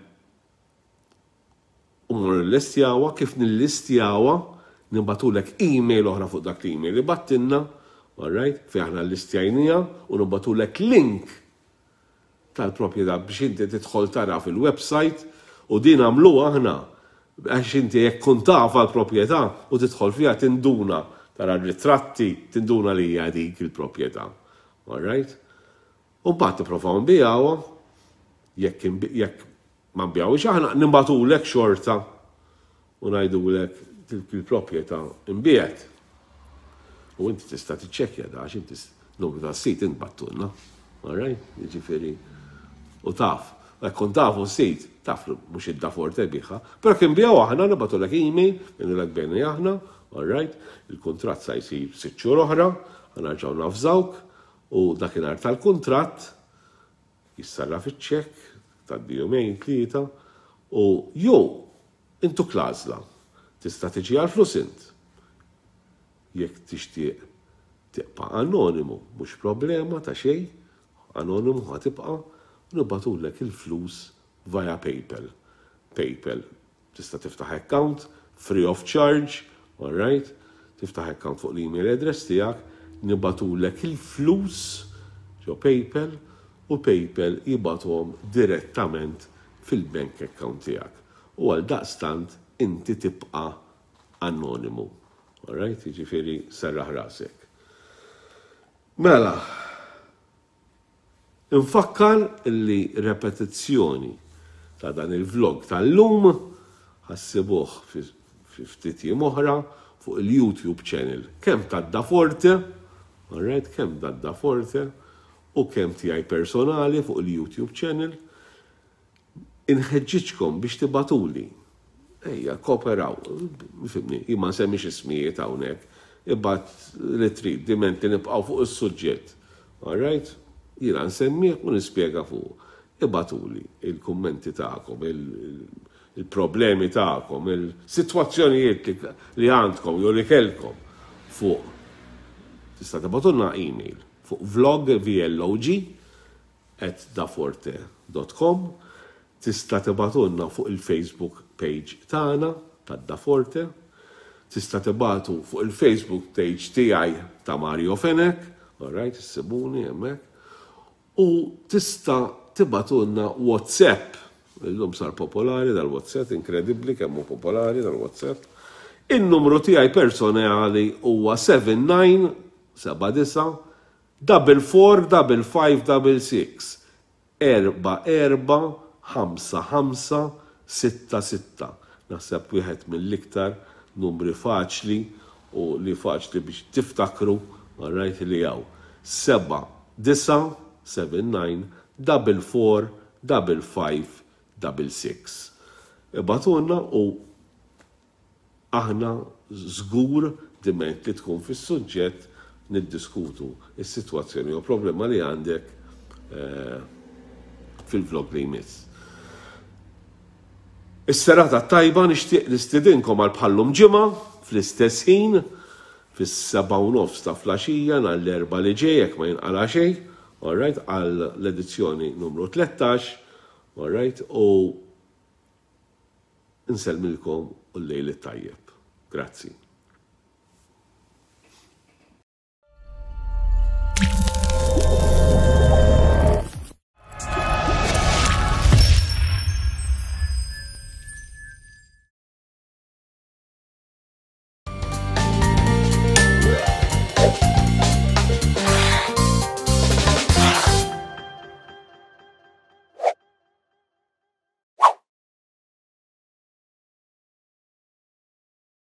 u nillistjawha, kif nillistjawha, nibagħtulek email oħra fuq dak l-email li bgħattilna, all right, fejn aħna llistjajnieha u nibagħtulek link tal-proprjetà biex inti tidħol tara fil-website. U din għamlu aħna għax inti jekk kun taf għal-proprjetà u tidħol fiha tinduna, tara ritratti, tinduna li hija dik il-proprjetà. All right? U mbagħad tipprovaw nbigħuha, jekk jekk ma nbigħux aħna, nibagħtulek xorta u ngħidulek il-proprjetà inbiegħet. U inti tista' tiċċekkja da għax inti numru ta' sit int bgħattulna. All right? Jiġifieri u taf. Jekk kont tafu sit, taf li mhux id-Da Forte biegħha. Però kien biegħu aħna, nibagħtulek email, ngħidulek bigħna aħna, all right? Il-kuntratt sa jsir sitt xhur oħra, ħa nerġgħu navżawk u dakinhar tal-kuntratt jissarraf iċ-ċekk ta' jumejn, tlieta, u jew intuk l-għażla. Tista' tiġi għal flus int. Jekk tixtieq tibqa' anonimu, mhux problema ta' xejn, anonimu ħa tibqa', nibagħtulek il-flus via PayPal. PayPal. Tista' tiftaħ account, free of charge, all right? Tiftaħ account fuq l-email address tiegħek, nibagħtulek il-flus ġo PayPal u PayPal jibgħatuhom direttament fil-bank account tiegħek. U għal daqstant inti tibqa' anonimu. Alright, jiġifieri serraħ rasek. Mela, infakkar li repetizzjoni ta' dan il-vlog tal-lum ħa ssibuh fi ftit jiem oħra fuq il-YouTube channel kemm ta' Daforte, alright, kemm ta' Daforte u kemm tiegħi personali fuq il-YouTube channel. Inħeġġiġkom biex tibagħtuli. Ejja, kooperaw, fhimtni, jien ma nsemmix ismijiet hawnhekk, ibgħat li trid, diment li nibqgħu fuq is-suġġett. Alright? Jiena nsemmih u nispjega fuq. Ibagħtuli il-kummenti tagħkom, il-problemi tagħkom, il-sitwazzjonijiet li għandkom jew li kellkom fuq. Tista' tibagħtulna email fuq vlog vlog at daforte dot com. Tista' tibagħtulna fuq il-Facebook page tagħna ta' Daforte, tista' tibagħtu fuq il-Facebook page tiegħi ta' Mario Fenech, alright, issibuni hemmhekk, u tista' tibagħtulna WhatsApp. Illum sar popolari dal-WhatsApp, inkredibbli kemm hu popolari dal-WhatsApp. Il-numru tiegħi personali huwa sebgħa tnejn sebgħa disgħa double four double five double six, erba' erba' ħamsa ħamsa sitta sitta. Naħseb wieħed mill-iktar numri faċli u li faċli biex tiftakru, alright, li hawn. Seba' disgħa seven nine double four double five double six. Ibagħtulna u aħna żgur, diment li tkun fis-suġġett, niddiskutu is-sitwazzjoni u problema li għandek eh, fil-vlog li jmiss. Is-serata tajba, nixtieq nistidinkom għal bħal-lum ġimgħa fl-istess ħin fis-seba' u nofs ta' filgħaxija nhar l-Erbgħa li ġej, jekk ma jinqala xejn, alright, għal l-edizzjoni numru tlettax, alright, u nsellmilkom u l-lejl tajjeb. Grazzi.